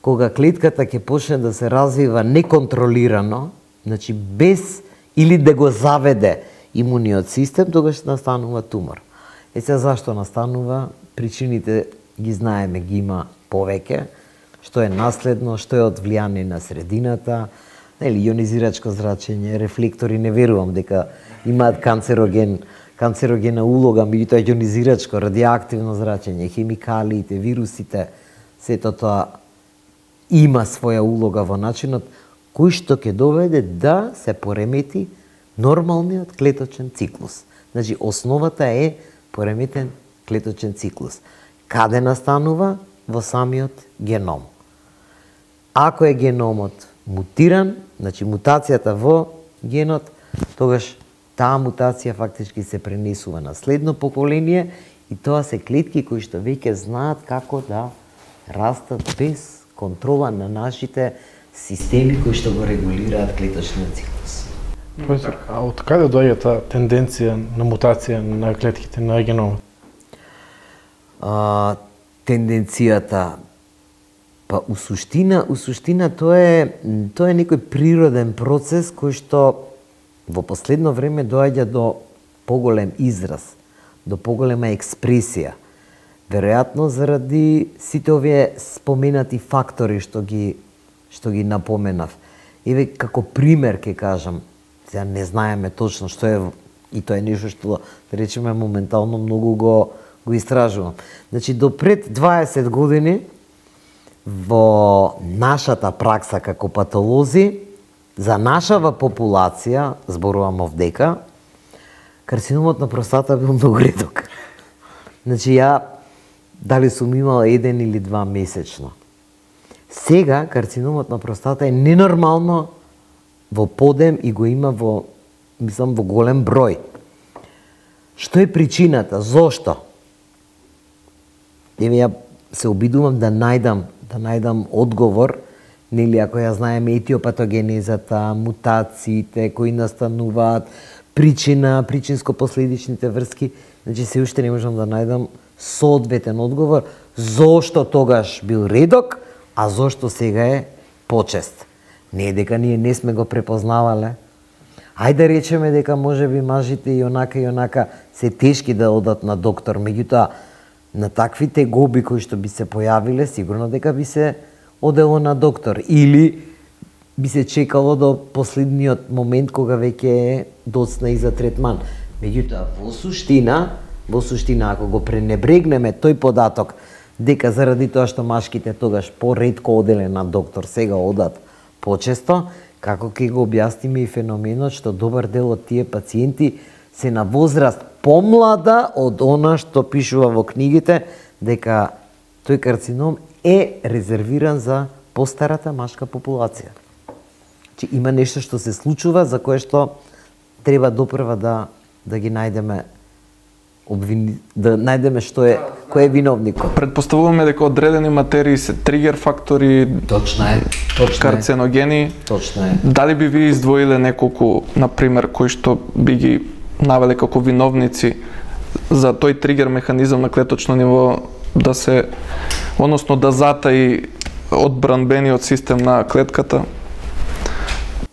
кога клетката ќе почне да се развива неконтролирано, значи без или да го заведе имуниот систем, тогаш настанува тумор. Сега зашто настанува? Причините ги знаеме, ги има повеќе, што е наследно, што е од влијание на средината, нели ионизирачко зрачење, рефлектори, не верувам дека имаат канцерогена улога, меѓутоа ионизирачко, радиоактивно зрачење, хемикалиите, вирусите, сето тоа има своја улога во начинот кој што ќе доведе да се поремети нормалниот клеточен циклус. Значи, основата е пореметен клеточен циклус. Каде настанува? Во самиот геном. Ако е геномот мутиран, значи мутацијата во генот, тогаш таа мутација фактички се пренесува на следно поколение и тоа се клетки кои што веќе знаат како да растат без контрола на нашите системи кои што го регулираат клеточниот циклус. А од каде доаѓа таа тенденција на мутација на клетките на геномот? Тенденцијата, па у суштина тоа е некој природен процес кој што во последно време доаѓа до поголем израз, до поголема експресија. Веројатно заради сите овие споменати фактори што ги напоменав. Еве како пример ќе кажам, сега не знаеме точно што е и тоа е нешто што да речеме моментално многу го истражувам. Значи до пред 20 години во нашата пракса како патолози за нашава популација, зборувам овдека, карциномот на простата бил многу реток. Значи ја дали сум имал 1 или 2 месечно. Сега карциномот на простата е ненормално во подем и го има во голем број. Што е причината? Зошто? Еве ја се обидувам да најдам одговор, нели ако ја знаеме етиопатогенезата, мутациите кои настануваат, причинско-последичните врски, значи се уште не можам да најдам соодветен одговор зошто тогаш бил редок, а зошто сега е почест. Не е дека ние не сме го препознавале. Ајде да речеме дека можеби мажите и онака се тешки да одат на доктор, меѓутоа на таквите гоби кои што би се појавиле, сигурно дека би се одело на доктор или би се чекало до последниот момент кога веќе е доцна и за третман. Меѓутоа, во суштина, ако го пренебрегнеме тој податок дека заради тоа што машките тогаш поретко оделе на доктор, сега одат почесто, како ќе го објасниме и феноменот што добар дел од тие пациенти се на возраст помлада од она што пишува во книгите, дека тој карцином е резервиран за постарата машка популација. Че има нешто што се случува за кое што треба допрва да ги најдеме да најдеме кој е виновникот. Предпоставуваме дека одредени материи се тригер фактори, точно е, карценогени. Точно е. Дали би ви издвоиле неколку, на пример, кои што би ги навеле како виновници за тој тригер механизам на клеточно ниво да затаи одбранбениот систем на клетката?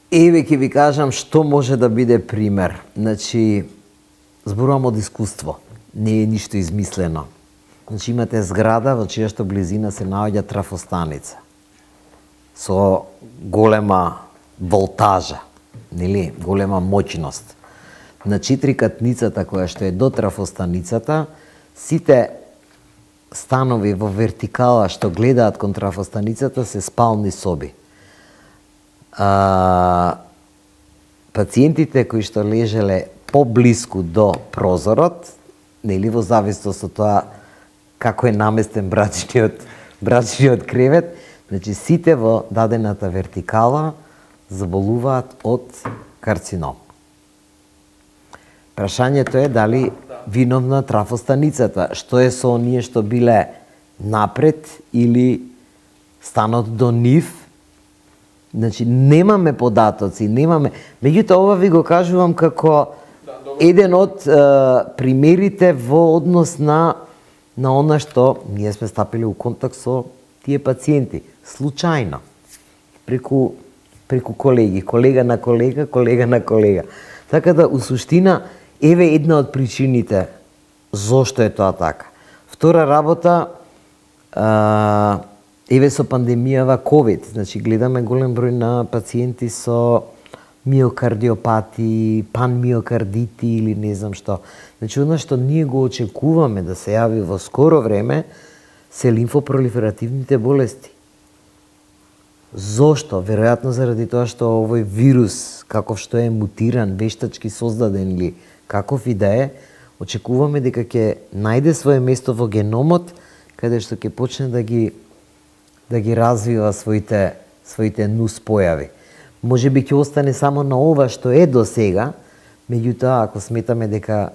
Еве ќе ви кажам што може да биде пример. Значи, зборувам од искуство. Не е ништо измислено. Значи, имате зграда во чија што близина се наоѓа трафостаница со голема волтажа, нели, голема моќност. На 4-катницата која што е до трафостаницата, сите станови во вертикала што гледаат кон трафостаницата се спални соби. Пациентите кои што лежеле поблиску до прозорот, нели во зависност од тоа како е наместен брачниот кревет, значи сите во дадената вертикала заболуваат од карцином. Прашањето е дали виновна трафостаницата. Што е со оние што биле напред или станот до нив? Значи, немаме податоци, немаме... Меѓутоа, ова ви го кажувам како еден од примерите во однос на она што ние сме стапили у контакт со тие пациенти. Случајно. Преку колеги, колега на колега, колега на колега. Така да, у суштина, еве една од причините зошто е тоа така. Втора работа, еве со пандемијава COVID, значи гледаме голем број на пациенти со миокардиопати, панмиокардити или не знам што. Значи, оно што ние го очекуваме да се јави во скоро време се лимфопролиферативните болести. Зошто? Веројатно заради тоа што овој вирус, каков што е мутиран, вештачки создаден или каков и да е, очекуваме дека ќе најде свое место во геномот, каде што ќе почне да ги развива своите нус појави. Може би ќе остане само на ова што е до сега, меѓутоа, ако сметаме дека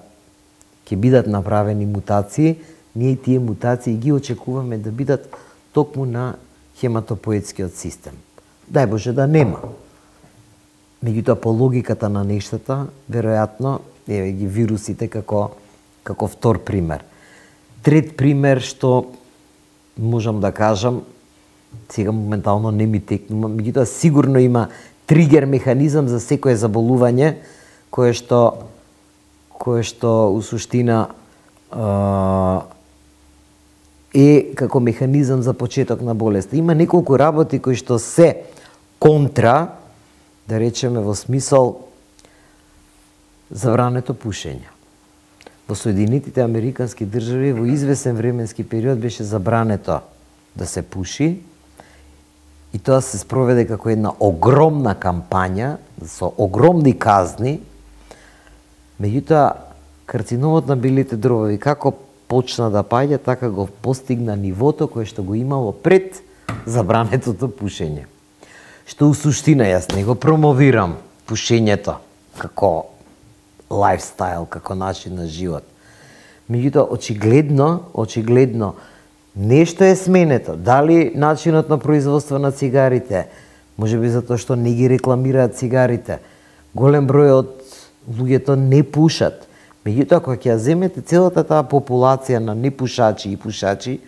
ќе бидат направени мутации, ние тие мутации ги очекуваме да бидат токму на хематопоетскиот систем. Дај Боже да нема. Меѓутоа, по логиката на нештата, веројатно, еве ги вирусите како втор пример. Трет пример што можам да кажам, сега моментално не ми текнува, меѓутоа сигурно има тригер механизам за секое заболување кое што у суштина е како механизам за почеток на болест. Има неколку работи кои што се контра, да речеме во смисол забрането пушење. Во Соединетите Американски држави во извесен временски период беше забрането да се пуши и тоа се спроведе како една огромна кампања со огромни казни. Меѓутоа, карциномот на белите дробови како почна да паѓа, така го постигна нивото кое што го имало пред забранетото пушење. Што у суштина јас не го промовирам пушењето како лайфстайл, како начин на живот. Меѓутоа, очигледно, нешто е сменето. Дали начинот на производство на цигарите, може би затоа што не ги рекламираат цигарите. Голем број од луѓето не пушат. Меѓутоа, кога ќе ја земете целата таа популација на непушачи и пушачи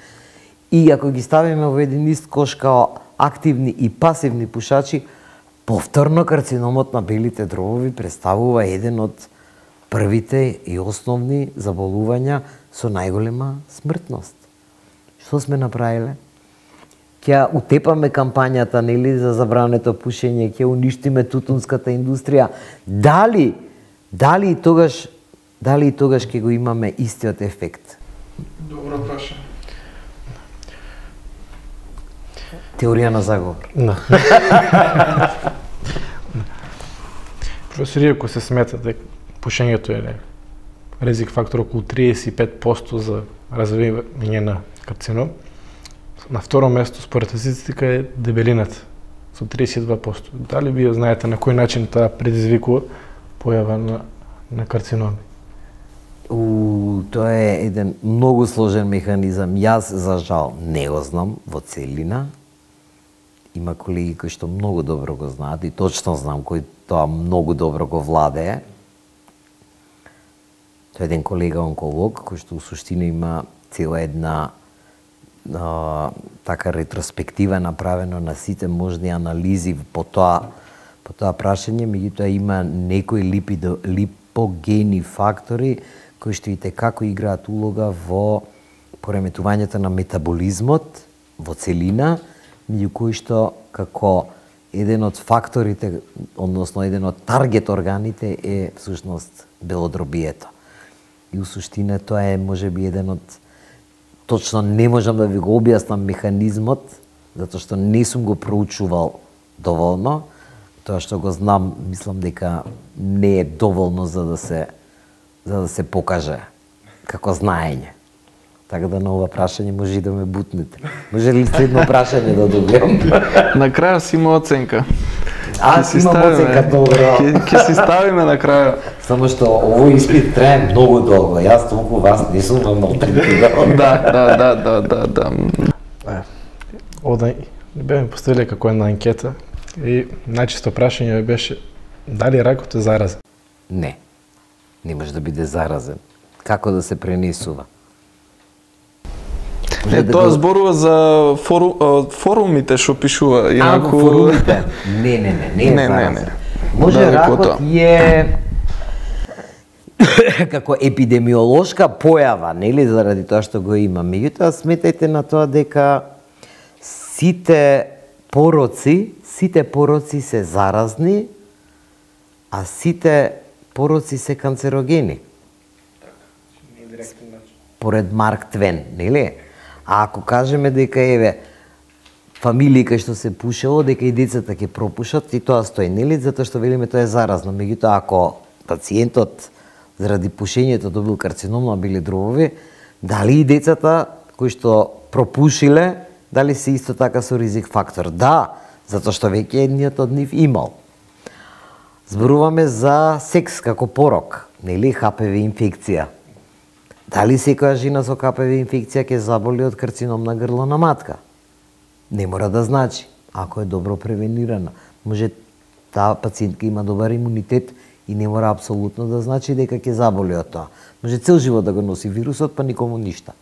и ако ги ставиме во еден ист кош као активни и пасивни пушачи, повторно карциномот на белите дробови представува еден од првите и основни заболувања со најголема смртност. Што сме направиле? Ќе утепаме кампањата, нели, за забрането пушење, ќе уништиме тутунската индустрија. Дали и тогаш ќе го имаме истиот ефект? Добро прашање. Теорија на заговор. Професор Иако се смета дека пушењето е ризик фактор околу 35% за развивање на карцином. На второ место, според статистика, е дебелината со 32%. Дали вие знаете на кој начин таа предизвикува појава на карциноми? Тоа е еден многу сложен механизам. Јас, за жал, не го знам во целина. Има колеги кои што многу добро го знаат и точно знам кој тоа многу добро го владее. Тој е еден колега онколог кој што у суштина има цела една така ретроспектива направено на сите можни анализи по тоа прашање, меѓутоа има некои липогени фактори кои што и како играат улога во пореметувањето на метаболизмот во целина, меѓу кои што како еден од факторите, односно еден од таргет органите е всушност белодробието. И у суштина тоа е можеби еден од, точно не можам да ви го објаснам механизмот, затоа што не сум го проучувал доволно. Тоа што го знам, мислам дека не е доволно за да се покаже како знаење. Така да на ова прашање може и да ме бутнете. Може ли следно прашање да добиам? На крај си има оценка. Аз имам оценка добро. Ќе си ставиме на крај. Само што овој испит трае многу долго. Јас толку вас не сум малтретирал. Да. Овде беме поставили како една анкета и најчесто прашање беше дали ракот е заразен? Не. Не може да биде заразен. Како да се пренесува? Не, тоа зборува за форумите што пишува. Инаку форумите? Не е заразен. Може ракот е како епидемиолошка појава, нели, заради тоа што го има. Меѓутоа, сметајте на тоа дека сите пороци се заразни, а сите пороци се канцерогени. Поред Марк Твен, нели? А ако кажеме дека еве фамилии кај што се пушело, дека и децата ќе пропушат, и тоа стои, нели? Затоа што велиме тоа е заразно. Меѓутоа, ако пациентот заради пушењето добил карцином на бели дробови, дали и децата кои што пропушиле, дали се исто така со ризик фактор? Да, затоа што веќе едниот од нив имал. Зборуваме за секс како порок, нели, HPV инфекција. Дали секоја жена со HPV инфекција ќе заболи од карцином на грло на матка? Не мора да значи, ако е добро превенирана. Може таа пациентка има добар имунитет и не мора апсолутно да значи дека ќе заболи од тоа. Може цел живот да го носи вирусот, па никому ништа.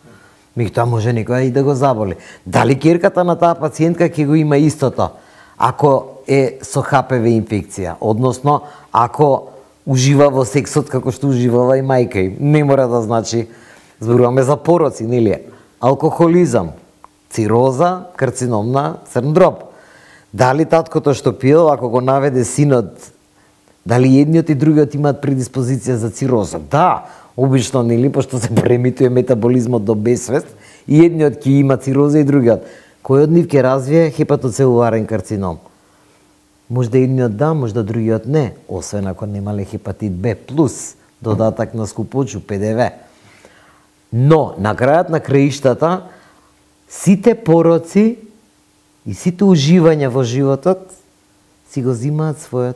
Меѓутоа може некоја и да го заболи. Дали ќерката на таа пациентка ќе го има истото, ако е со HPV инфекција, односно ако ужива во сексот како што уживала и мајка им. Не мора да значи, зборуваме за пороци, нели? Алкохолизам, цироза, карцином на црн дроб. Дали таткото што пиел, ако го наведе синот, дали едниот и другиот имаат предиспозиција за цироза? Да, обично, нели, пошто се преемитува метаболизмот до безсвест, и едниот ќе има цироза и другиот. Кој од нив ќе развие хепатоцелуларен карцином? Може да едниот да, може да другиот не, освен ако немале хепатит Б+, додатак на скупочу, ПДВ. Но, на крајот на краиштата, сите пороци и сите уживања во животот си го зимаат својот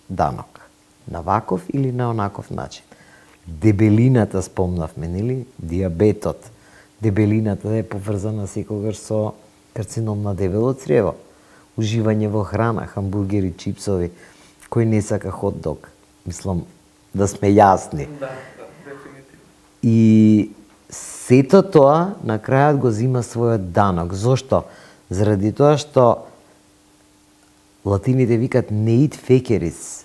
данок. На ваков или на онаков начин. Дебелината спомнавме, нели? Диабетот. Дебелината е поврзана секогаш со карцином на дебело црево. Уживање во храна, хамбургери, чипсови, кој не сака хот-дог. Мислам, да сме јасни. Да, дефинитивно. И сето тоа на крајот го зима својот данок. Зошто? Заради тоа што латините викат ne id feceris,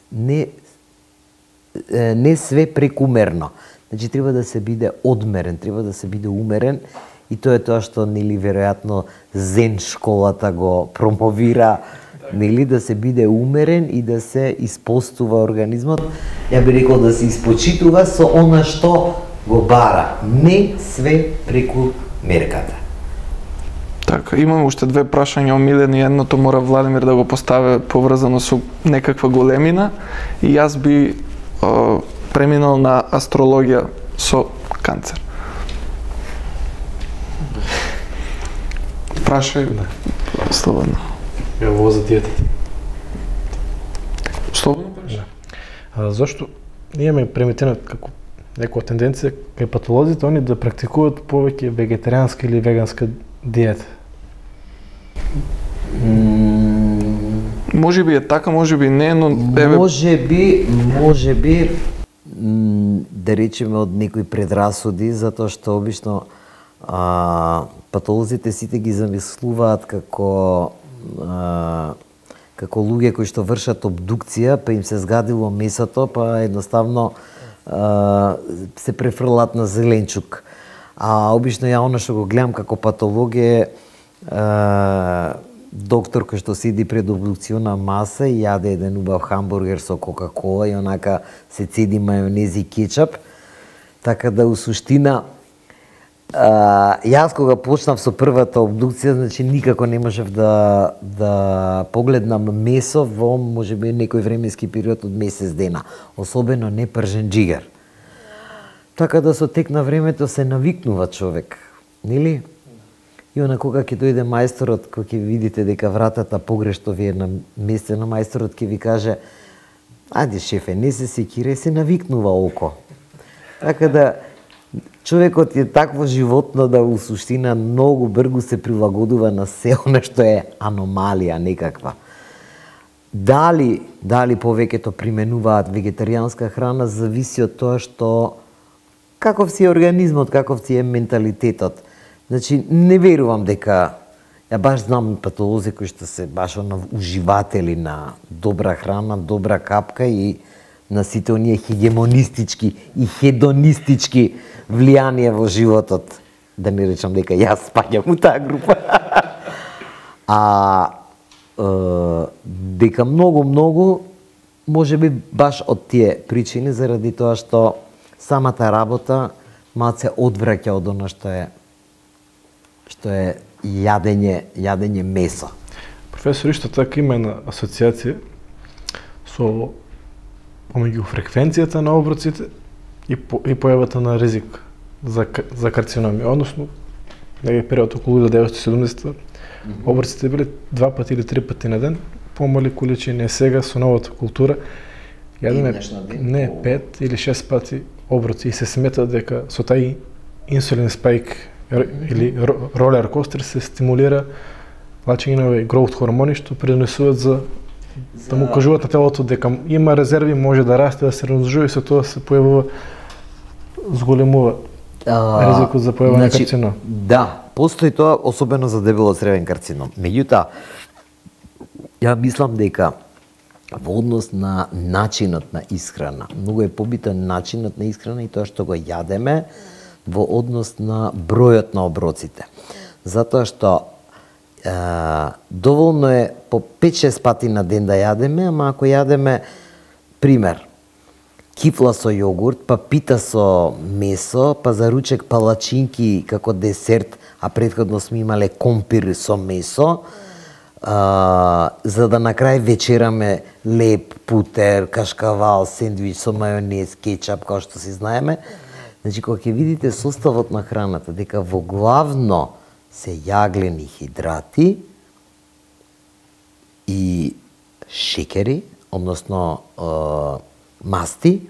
не све прекумерно. Значи треба да се биде одмерен, треба да се биде умерен, и тоа е тоа што нели веројатно Зен школата го промовира, нели, да се биде умерен и да се испостува организмот. Ја би рекол да се испочитува со она што го бара, не све преку мерката. Така, имам уште две прашања омилени, едното мора Владимир да го постави поврзано со некаква големина и јас би преминал на астрологија со канцер. Прашај, слободно. Ово за диетата. Слободно прашај. Зошто имаме приметено како некоја тенденција кај патолозите они да практикуваат повеќе вегетаријанска или веганска диета? Може би е така, може би не, но еве Може би да речеме од некои предрасуди, затоа што обично патолозите сите ги замислуваат како луѓе кои што вршат обдукција, па им се згадило месото, па едноставно се префрлат на зеленчук. А обично ја она што го гледам како патологија, доктор кој што сиди пред обдукциона маса и јаде еден убав хамбургер со кока-кола и онака се цеди мајонез и кетчап. Така да, у суштина, јас кога почнав со првата обдукција, значи никако не можев да погледнам месо во можеби некој временски период од месец дена, особено не пржен џигер. Така да со тек на времето се навикнува човек, нели? И она кога ќе дојде мајсторот, кога ќе видите дека вратата погрешно ви е наместено, мајсторот ќе ви каже: "Ајде шефе, не се секире, се навикнува око." Така да човекот е такво животно да у суштина многу брзо се прилагодува на се она што е аномалија некаква. Дали повеќето применуваат вегетаријанска храна зависи од тоа што каков си е организмот, каков си е менталитетот. Значи, не верувам дека, ја баш знам патолози кои што се баш уживатели на добра храна, добра капка и на сите оние хегемонистички и хедонистички влијанија во животот. Да не речам дека јас спаѓам у таа група. Дека многу може би баш од тие причини, заради тоа што самата работа малце одвраќа од она што е јадење месо. Професор, исто така има една асоциација со помеѓу фреквенцијата на оброците и појавата на ризик за карциноми. Односно, некој период околу 1970 оброците биле 2 пати или 3 пати на ден, помали количини. Сега со новата култура јадеме 5 или 6 пати оброци и се смета дека со тај инсулин спајк или ролер костер се стимулира плачење на гроут хормони што пренесуваат за да му кажуваат на телото дека има резерви, може да расте, да се размножува и со тоа се појавува зголемува ризикот за појава на карцином. Да, постои тоа особено за дебело-цревен карцином. Меѓутоа, ја мислам дека во однос на начинот на исхрана, многу е побитен начинот на исхрана и тоа што го јадеме во однос на бројот на оброците. Затоа што доволно е по 5-6 пати на ден да јадеме, ама ако јадеме, пример, кифла со јогурт, па пита со месо, па за ручек палачинки како десерт, а претходно сме имале компир со месо, за да на крај вечераме леп, путер, кашкавал, сендвич со мајонез, кетчап, како што си знаеме. Значи, кога ќе видите составот на храната, дека во главно се јаглени хидрати и шекери, односно масти,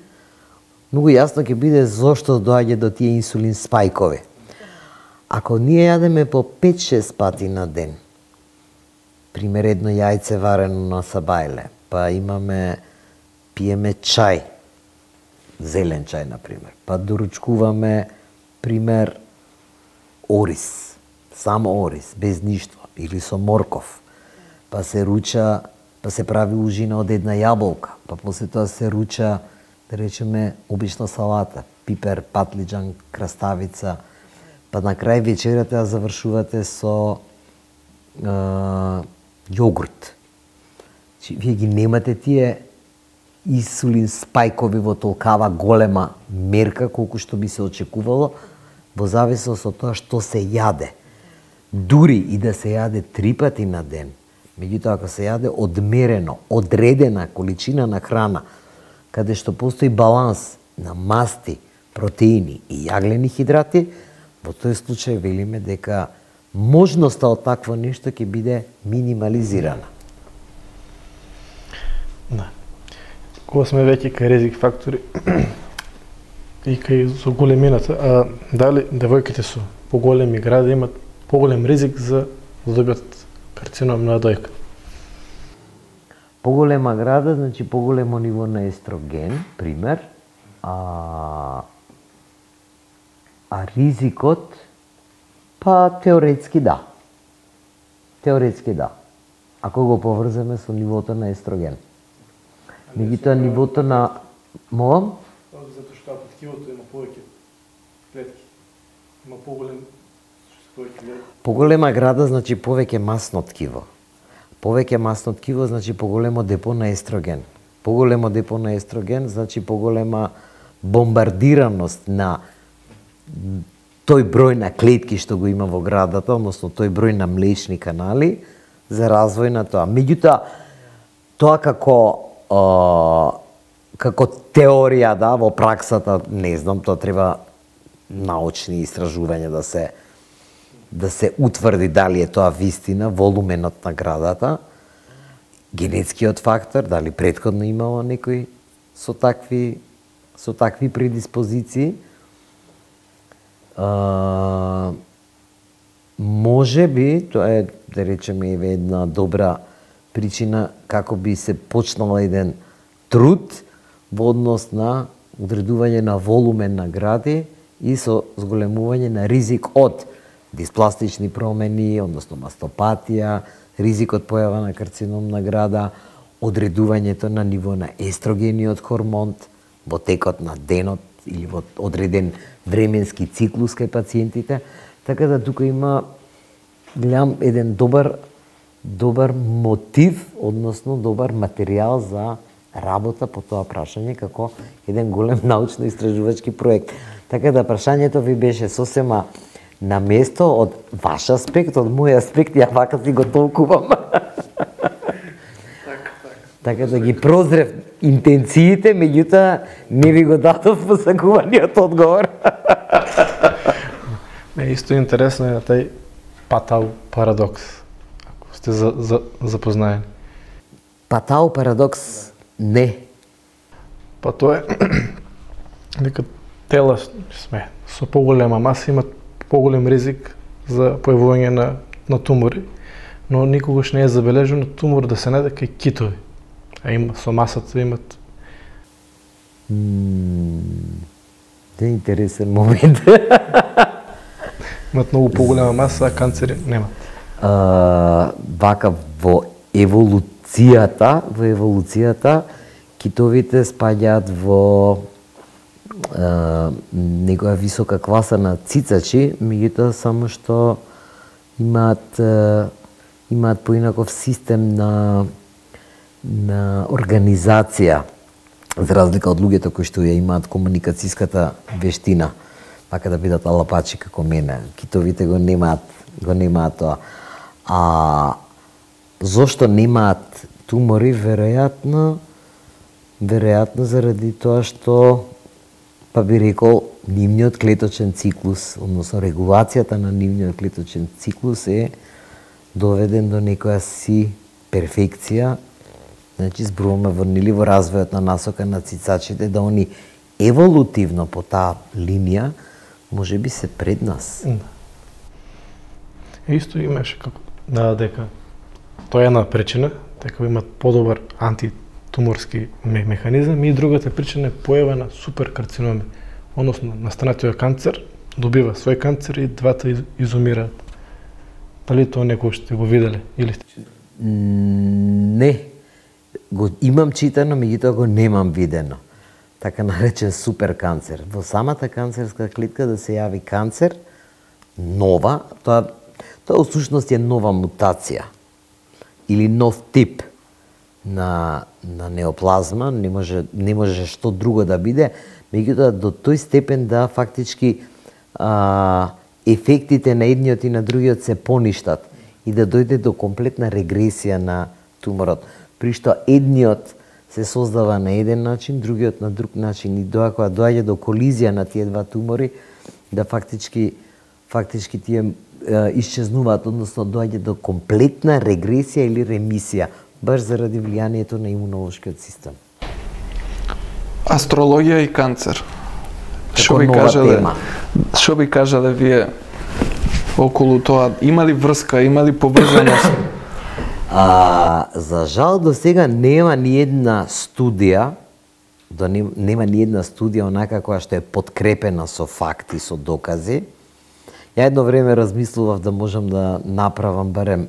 многу јасно ќе биде зошто доаѓа до тие инсулин спајкови. Ако ние јадеме по 5-6 пати на ден, пример едно јајце варено на сабајле, па пиеме чај, зелен чај, например, па доручкуваме, пример, ориз, само ориз, без ништо, или со морков, па се руча, па се прави ужина од една јаболка, па после тоа се руча, да речеме, обична салата, пипер, патлиџан, краставица, па на крај вечерата ја завршувате со јогурт. Вие ги немате тие инсулин спајкови во толкава голема мерка колку што би се очекувало во зависност од тоа што се јаде. Дури и да се јаде 3 пати на ден, меѓутоа ако се јаде одмерено, одредена количина на храна, каде што постои баланс на масти, протеини и јаглени хидрати, во тој случај велиме дека можноста од такво нешто ќе биде минимализирана. Да. Кога сме веќе кај ризик фактори и кај со големината, дали девојките со поголеми гради имат поголем ризик за да добијат карцином на дојка? Поголема града, значи поголемо ниво на естроген, пример, а ризикот, па теоретски да. Теоретски да. Ако го поврземе со нивото на естроген. Меѓутоа нивото на молам? Затоа што под ткивото има повеќе клетки. Има поголем Поголема града значи повеќе масно ткиво. Повеќе масно ткиво значи поголемо депо на естроген. Поголемо депо на естроген значи поголема бомбардираност на тој број на клетки што го има во градата, односно тој број на млечни канали за развој на тоа. Меѓутоа, тоа како теорија, да, во праксата, не знам, тоа треба научни истражувања да се да се утврди дали е тоа вистина, волуменот на градата, генетскиот фактор, дали претходно имало некој со такви предиспозиции. Може би, тоа е, да речеме, една добра причина како би се почнал еден труд во однос на одредување на волумен на гради и со зголемување на ризик од диспластични промени, односно мастопатија, ризик од појава на карцином на града, одредувањето на ниво на естрогениот хормон во текот на денот или во одреден временски циклус кај пациентите, така да тука има гледам еден добар мотив, односно добар материјал за работа по тоа прашање како еден голем научно-истражувачки проект. Така да прашањето ви беше сосема на место од ваш аспект, од мој аспект, ја вака си го толкувам. Така да ги прозрев интенциите, меѓутоа не ви го дадов посакуваниот одговор. Исто интересно е на тај Патау парадокс, ако сте запознаени. Патау парадокс не. Па тоа е дека тела сме со поголема маса имат поголем ризик за појавување на тумори, но никогаш не е забележено тумор да се најде кај китови. А има со масата имат. Тоа е интересен момент. Имат многу поголема маса, а канцери немат. Вака во еволуцијата китовите спаѓаат во некоја висока класа на цицачи, меѓутоа само што имаат поинаков систем на организација, за разлика од луѓето кои што ја имаат комуникацијската вештина, така да бидат алапачи како мене. Китовите го немаат тоа. А зошто немаат тумори? Веројатно заради тоа што, па би рекол, нивниот клеточен циклус, односно регулацијата на нивниот клеточен циклус е доведен до некоја си перфекција. Значи, зборуваме во развојот на насока на цицачите, да они еволутивно по таа линија може би се пред нас. Исто имаше како дека тоа е една причина, дека имат подобар антитуморски механизам, и другата причина е појава на суперкарциноми, односно настанатиот канцер добива свој канцер и двата изумираат. Дали тоа некој сте го виделе или сте? Не. Го имам читано, меѓутоа го немам видено. Така наречен суперканцер. Во самата канцерска клетка да се јави канцер нова, тоа всушност е нова мутација или нов тип на неоплазма, не може што друго да биде, меѓутоа до тој степен да фактички ефектите на едниот и на другиот се поништат и да дојде до комплетна регресија на туморот, при што едниот се создава на еден начин, другиот на друг начин, и кога доаѓа до колизија на тие два тумори, да фактички тие исчезнуваат, односно доаѓа до комплетна регресија или ремисија, баш заради влијанието на имунолошкиот систем. Астрологија и канцер. Како нова тема. Што би кажале вие околу тоа? Има ли врска, има ли поврзаност? За жал до сега нема ни една студија, онака која што е подкрепена со факти, со докази. Ја едно време размислував да можам да направам барем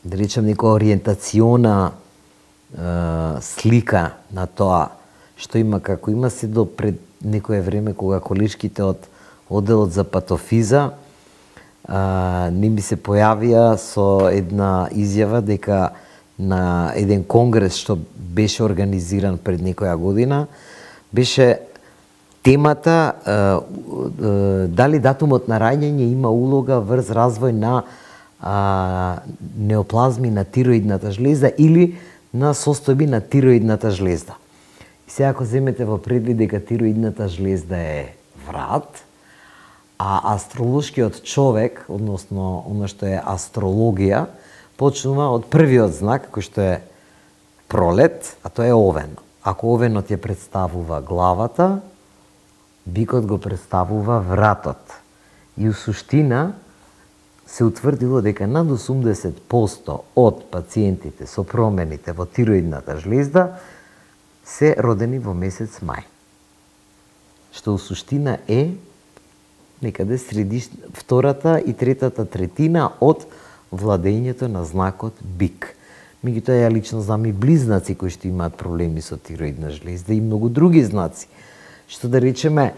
да речем некоја ориентациона слика на тоа што има, како има се до пред некое време кога колешките од одделот за патофиза не ми се појавија со една изјава дека на еден конгрес што беше организиран пред некоја година, беше темата дали датумот на раѓање има улога врз развој на неоплазми на тироидната жлезда или на состојби на тироидната жлезда. И сега ако земете во предвид дека тироидната жлезда е врат, А астролошкиот човек, односно она што е астрологија, почнува од првиот знак кој што е пролет, а тоа е овен. Ако овенот ја представува главата, бикот го представува вратот. И у суштина се утврдило дека над 80% од пациентите со промените во тироидната жлезда се родени во месец мај. Што у суштина е некаде втората и третата третина од владењето на знакот бик. Меѓутоа, ја лично знам и близнаци кои што имаат проблеми со тироидна жлезда и многу други знаци. Што да речеме,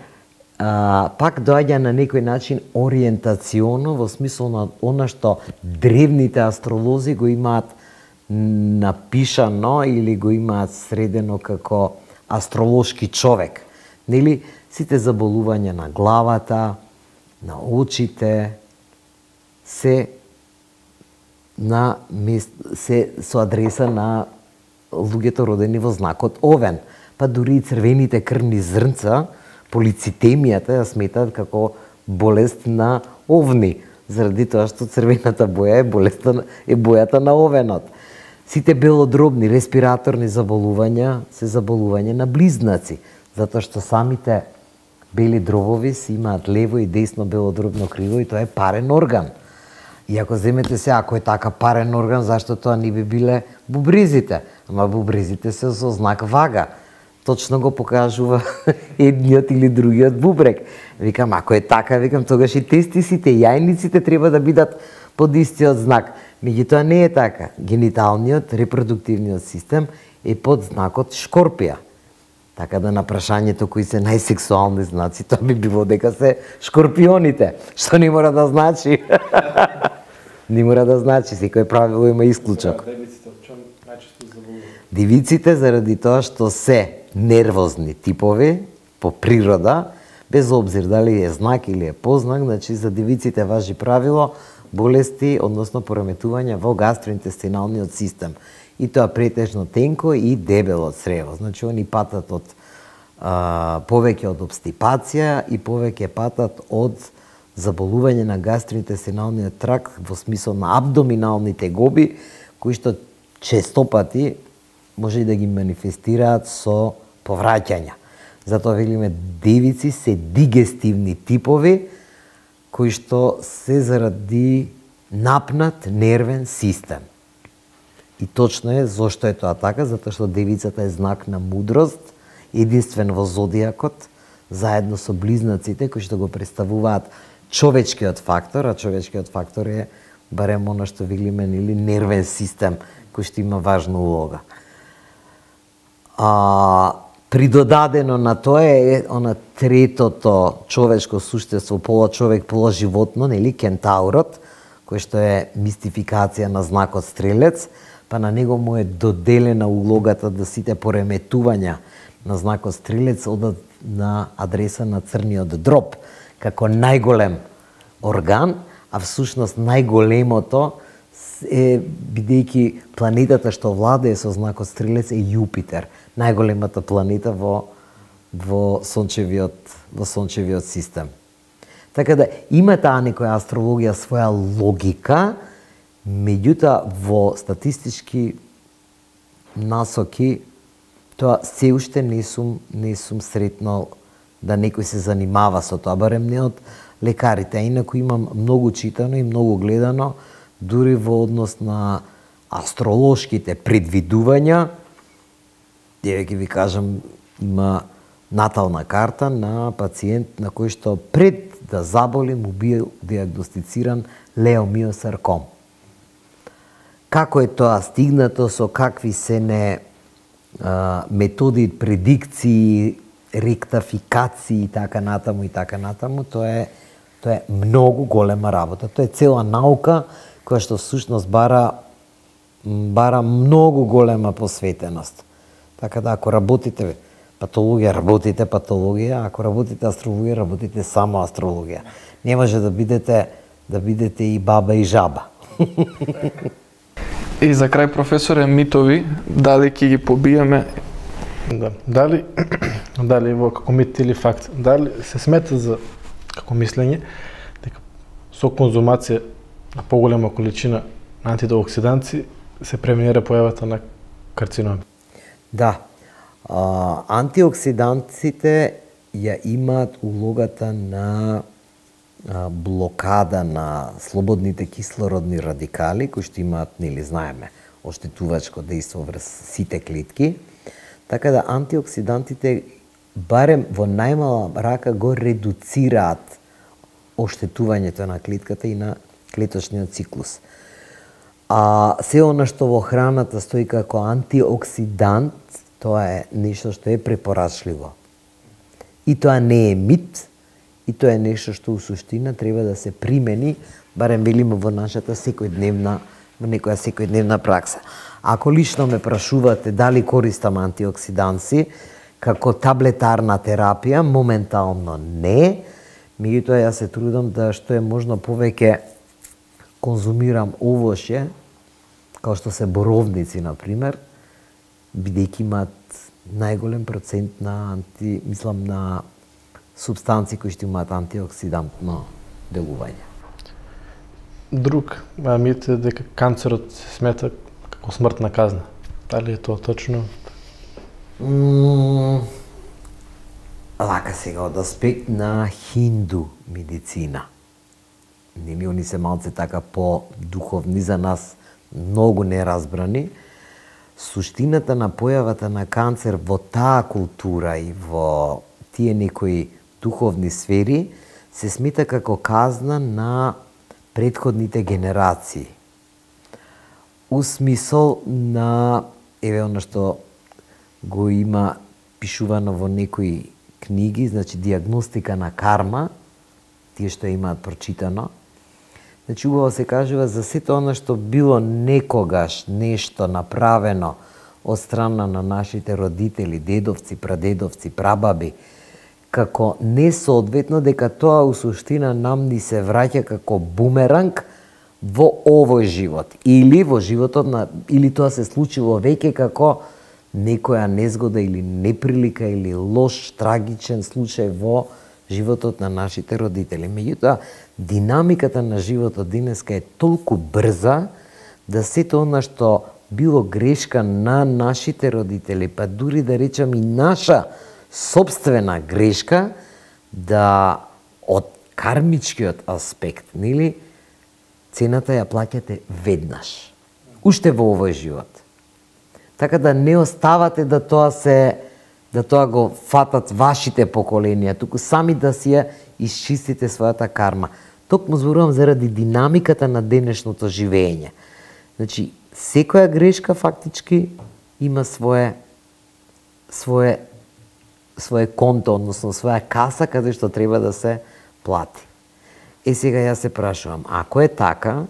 пак доаѓа на некој начин ориентационо во смисол на она што древните астролози го имаат напишано или го имаат средено како астролошки човек. Нели, сите заболувања на главата, на очите, се со адреса на луѓето родени во знакот овен. Па дури и црвените крвни зрнца, полицитемијата ја сметаат како болест на овни, заради тоа што црвената боја е бојата на овенот. Сите белодробни респираторни заболувања се заболување на близнаци, затоа што самите бели дробови си имаат лево и десно белодробно криво и тоа е парен орган. И ако земете се, ако е така парен орган, зашто тоа не би биле бубрезите? Ама бубрезите се со знак вага. Точно го покажува едниот или другиот бубрек. Викам, ако е така, тогаш и тестисите, јајниците треба да бидат под истиот знак. Меѓутоа не е така. Гениталниот, репродуктивниот систем е под знакот Шкорпија. Така да на прашањето кои се најсексуални знаци, тоа би било дека се шкорпионите, што не мора да значи. Не мора да значи, секој правило има исклучок. Девиците заради тоа што се нервозни типови по природа, без обзир дали е знак или е познак, значи за девиците важи правило болести, односно пореметувања во гастроинтестиналниот систем. И тоа претежно тенко и дебело црево. Значи, они патат од повеќе од обстипација и повеќе патат од заболување на гастроинтестиналниот тракт во смисол на абдоминални тегоби, кои што честопати може и да ги манифестираат со повраќања. Затоа велиме девици се дигестивни типови кои што се заради напнат нервен систем. И точно е зошто е тоа така, затоа што девицата е знак на мудрост, единствен во зодијакот, заедно со близнаците кои што го представуваат човечкиот фактор, а човечкиот фактор е барем она што велиме или нервен систем кој што има важна улога. Придодадено на тоа е она третото човечко суштество, пола човек, пола животно, нели, кентаурот, кој што е мистификација на знакот стрелец, па на него му е доделена улогата да сите пореметувања на знакот стрелец одат на адреса на црниот дроб, како најголем орган, а всушност најголемото е, бидејќи планетата што владее со знакот стрелец е Јупитер, најголемата планета во сончевиот систем. Така да има таа некоја астрологија своја логика, меѓутоа во статистички насоки тоа се уште не сум сретнал да некој се занимава со тоа, барем не од лекарите, а инаку имам многу читано и многу гледано, дури во однос на астролошките предвидувања. Ќе ви кажам, има натална карта на пациент на кој што пред да заболи му бил диагностициран леомиосарком. Како е тоа стигнато, со какви се не методи, предикции, ректификации и така натаму, тоа е многу голема работа. Тоа е цела наука која што всушност бара многу голема посветеност. Така да, ако работите патологија, работите патологија, ако работите астрологија, работите само астрологија. Не може да бидете и баба и жаба. И за крај, професоре, митови, дали ќе ги побиеме? Да. Дали во како мит или факт, дали се смета за како мислење, дека со конзумација на поголема количина антиоксиданци се преминира појавата на карциноми. Да. Антиоксидантите ја имаат улогата на блокада на слободните кислородни радикали, кои што имаат, нели знаеме, оштетувачко дејство врз сите клетки. Така да антиоксидантите барем во најмала рака го редуцираат оштетувањето на клетката и на клеточниот циклус. А се она што во храната стои како антиоксидант, тоа е нешто што е препорачливо. И тоа не е мит, и тоа е нешто што у суштина треба да се примени, барем велиме во нашата секојдневна, во некоја секојдневна пракса. Ако лично ме прашувате дали користам антиоксиданси како таблетарна терапија, моментално не. Меѓутоа јас се трудам да што е можно повеќе конзумирам овоше, како што се боровници, например, бидејќи имаат најголем процент на на супстанции кои што имаат антиоксидантно делување. Друг мит е дека канцерот се смета како смртна казна. Дали е тоа точно? Лака сега од аспект на хинду медицина. Нели они се малце така по-духовни за нас, многу неразбрани. Суштината на појавата на канцер во таа култура и во тие некои духовни сфери се смета како казна на претходните генерации. У смисол на, еве она што го има пишувано во некои книги, значи диагностика на карма, тие што имаат прочитано. Значи убаво се кажува за сето она што било некогаш нешто направено од страна на нашите родители, дедовци, прадедовци, прабаби, како несоодветно, дека тоа у суштина нам ни се враќа како бумеранг во овој живот или во животот на, или тоа се случило веќе како некоја незгода или неприлика или лош, трагичен случај во животот на нашите родители. Меѓутоа, динамиката на животот денеска е толку брза да сето она што било грешка на нашите родители, па дури да речам и наша собствена грешка, да од кармичкиот аспект, нели, цената ја плаќате веднаш, уште во овој живот. Така да не оставате да тоа го фатат вашите поколенија, туку сами да си ја исчистите својата карма. Токму зборувам заради динамиката на денешното живење. Значи, секоја грешка фактички има свое конто, односно своја каса каде што треба да се плати. Сега јас се прашувам, ако е така,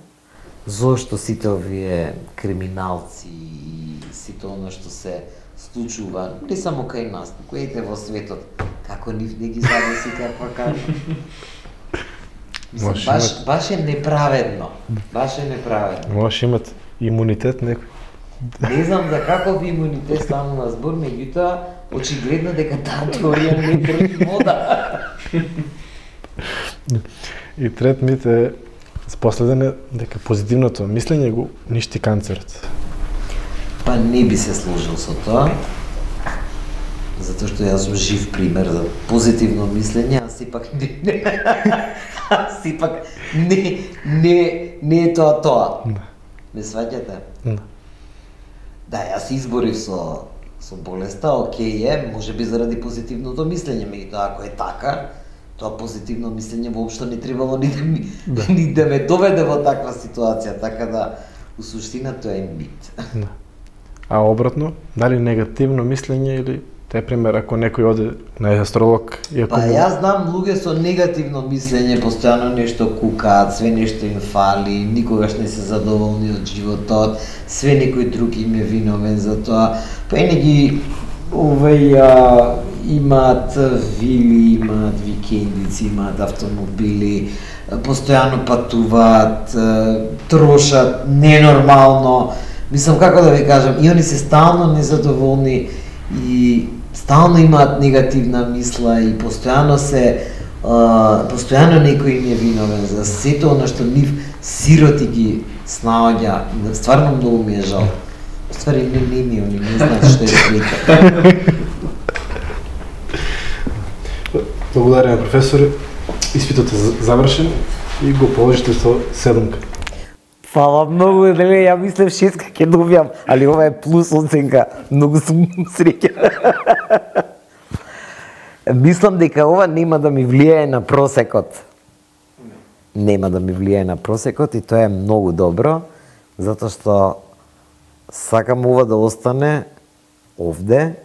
зошто сите овие криминалци и сите оно што се случува, не само кај нас, туку ете во светот, како нив не ги задеси каква карма? Мислам, баш е неправедно. Баш е неправедно. Може имат имунитет некој. Не знам за каков имунитет станува збор, меѓутоа очигледно дека таа теорија не држи вода. И трет мит е последен е дека позитивното мислење го ништи канцерот. Па не би се сложил со тоа, затоа што јас сум жив пример за позитивно мислење, а сепак не е тоа. Не сваќате? Да, јас изборив со болеста, окей е, може би заради позитивното мислење, меѓутоа ако е така, тоа позитивно мислење воопшто не требало ни да ме доведе во таква ситуација, така да у суштина тоа е мит. А обратно, дали негативно мислење или те пример ако некој оде на астролог и ако јас знам луѓе со негативно мислење, постојано нешто кукаат, све нешто им фали, никогаш не се задоволни од животот, све некој друг им е виновен за тоа. Па ги имаат вили, имаат викендици, имаат автомобили, постојано патуваат, трошат ненормално. Мислам, како да ви кажам, и они се стално незадоволни и стално имаат негативна мисла и постојано се постојано некој им е виновен за сето оно што нив сироти ги снаоѓа. Стварно многу ми е жал. Ствари не ми они не знаат што е света. Благодарам, професоре. Испитот е завршен и го положите со 7. Фала многу, нели, ја мислев 6 ќе добијам, али ова е плюс оценка. Многу сум среќен. Мислам дека ова нема да ми влијае на просекот. Нема да ми влијае на просекот и тоа е многу добро, затоа што сакам ова да остане овде,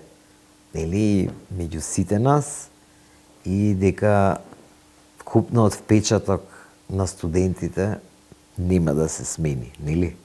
нели, меѓу сите нас и дека вкупниот впечаток на студентите нема да се смени, нели?